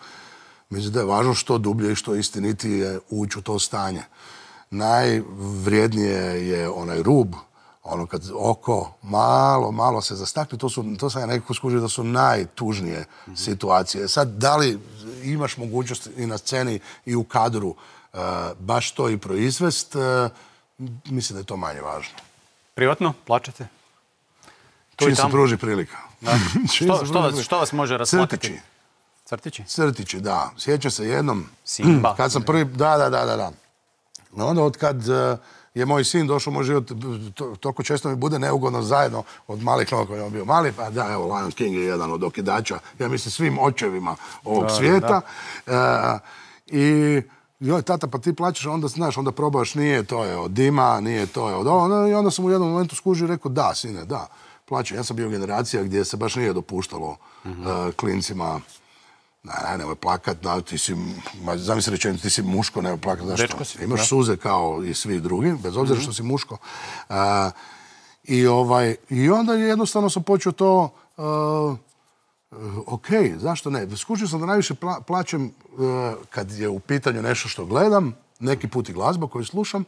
Mislim da je važno što dublje i što istinitije ući u to stanje. Najvrijednije je onaj rub, ono kad oko malo se zastakne, to sam ja nekako skužio da su najtužnije situacije. Sad, da li imaš mogućnost i na sceni i u kadru baš to i proizvest, mislim da je to manje važno. Privatno? Plačete? Čim se pruži prilika. Što vas može rasplakati? Crtići? Crtići, da. Sjećam se jednom... Simba. Kad sam prvi... Da. Onda od kad je moj sin došao u moj život, toliko često mi bude neugodno zajedno od malih noga koji je on bio mali, pa da, evo, Lion King je jedan od okidača, ja mislim svim očevima ovog svijeta. I joj, tata, pa ti plaćaš, onda znaš, onda probaš, nije to je od dima, nije to je od ovo. I onda sam u jednom momentu skužio i rekao, da, sine, da, plaćam. Ja sam bio generacija gdje se baš nije dopuštalo klincima, nemoj plakat, zamisli rečeno, ti si muško, nemoj plakat, zašto? Imaš suze kao i svi drugi, bez obzira što si muško. I onda jednostavno sam počeo to, ok, zašto ne? Skužio sam da najviše plaćam kad je u pitanju nešto što gledam, neki put i glazba koju slušam,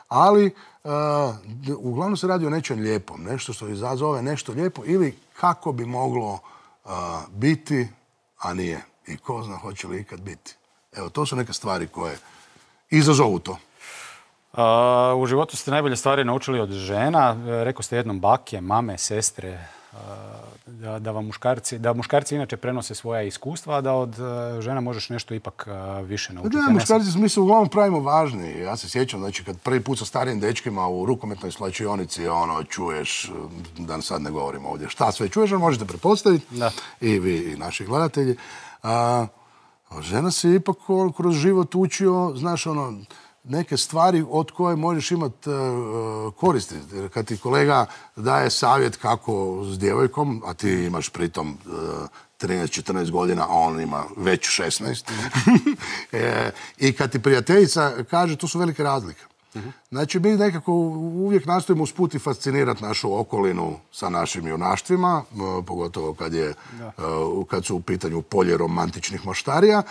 ali uglavnom se radi o nečem lijepom, nešto što izazove nešto lijepo ili kako bi moglo biti, a nije. I ko zna hoće li ikad biti. Evo, to su neke stvari koje izazovu to. U životu ste najbolje stvari naučili od žena. Rekao ste jednom bake, mame, sestre, da muškarci inače prenose svoja iskustva, a da od žena možeš nešto ipak više naučiti. Da, muškarci mi se uglavnom pravimo važni. Ja se sjećam, znači, kad prvi put sa starijim dečkima u rukometnoj slačionici, čuješ, da sad ne govorimo ovdje, šta sve čuješ, možete pretpostaviti, i vi, i naši gledatelji. Žena se ipak kroz život učio, znaš, neke stvari od koje možeš imati koristi. Kad ti kolega daje savjet kako s djevojkom, a ti imaš pritom 13-14 godina, a on ima već 16. I kad ti prijateljica kaže, to su velike razlike. Znači, mi nekako uvijek nastojimo usput i fascinirati našu okolinu sa našim junaštvima, pogotovo kad su u pitanju polje romantičnih moštarija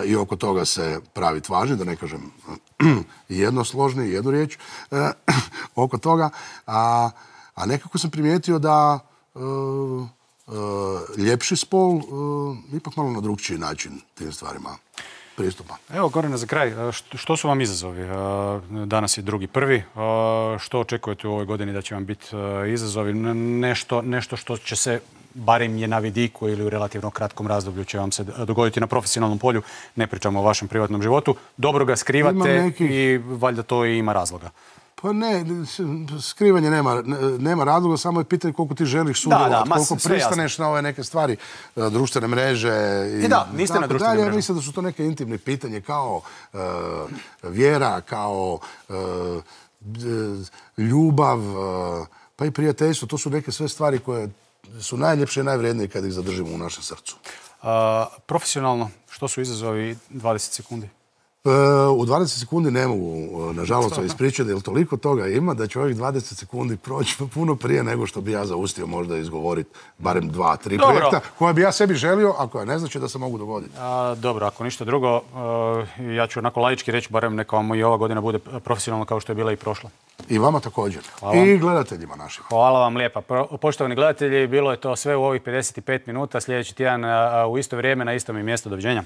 i oko toga se praviti važni, da ne kažem jednosložni, jednu riječ oko toga. A nekako sam primijetio da ljepši spol ipak malo na drugčiji način tim stvarima pristupa. Evo, Gorane, za kraj, što su vam izazovi? Danas je 2.1. Što očekujete u ovoj godini da će vam biti izazovi? Nešto što će se, barem je na vidiku ili u relativno kratkom razdoblju će vam se dogoditi na profesionalnom polju. Ne pričamo o vašem privatnom životu. Dobro ga skrivate i valjda to i ima razloga. Pa ne, skrivanje nema razloga, samo je pitanje koliko ti želiš sudjelovati, koliko pristaneš na ove neke stvari, društvene mreže i niste na društvenim mrežama. Ja mislim da su to neke intimne pitanje kao vjera, kao ljubav, pa i prijateljstvo. To su neke sve stvari koje su najljepše i najvrijednije kad ih zadržimo u našem srcu. Profesionalno, što su izazovi 20 sekundi? U 20 sekundi ne mogu, nažalost, ispričati, jer toliko toga ima da će ovih 20 sekundi proći puno prije nego što bi ja zaustio možda izgovoriti barem 2-3 projekta koje bi ja sebi želio, a koja ne znači da se mogu dogoditi. Dobro, ako ništa drugo, ja ću onako laički reći, barem neka vam i ova godina bude profesionalna kao što je bila i prošla. I vama također. I gledateljima našim. Hvala vam lijepa. Poštovani gledatelji, bilo je to sve u ovih 55 minuta. Sljedeći tjedan u isto vrijeme na istom mjestu. Doviđenja.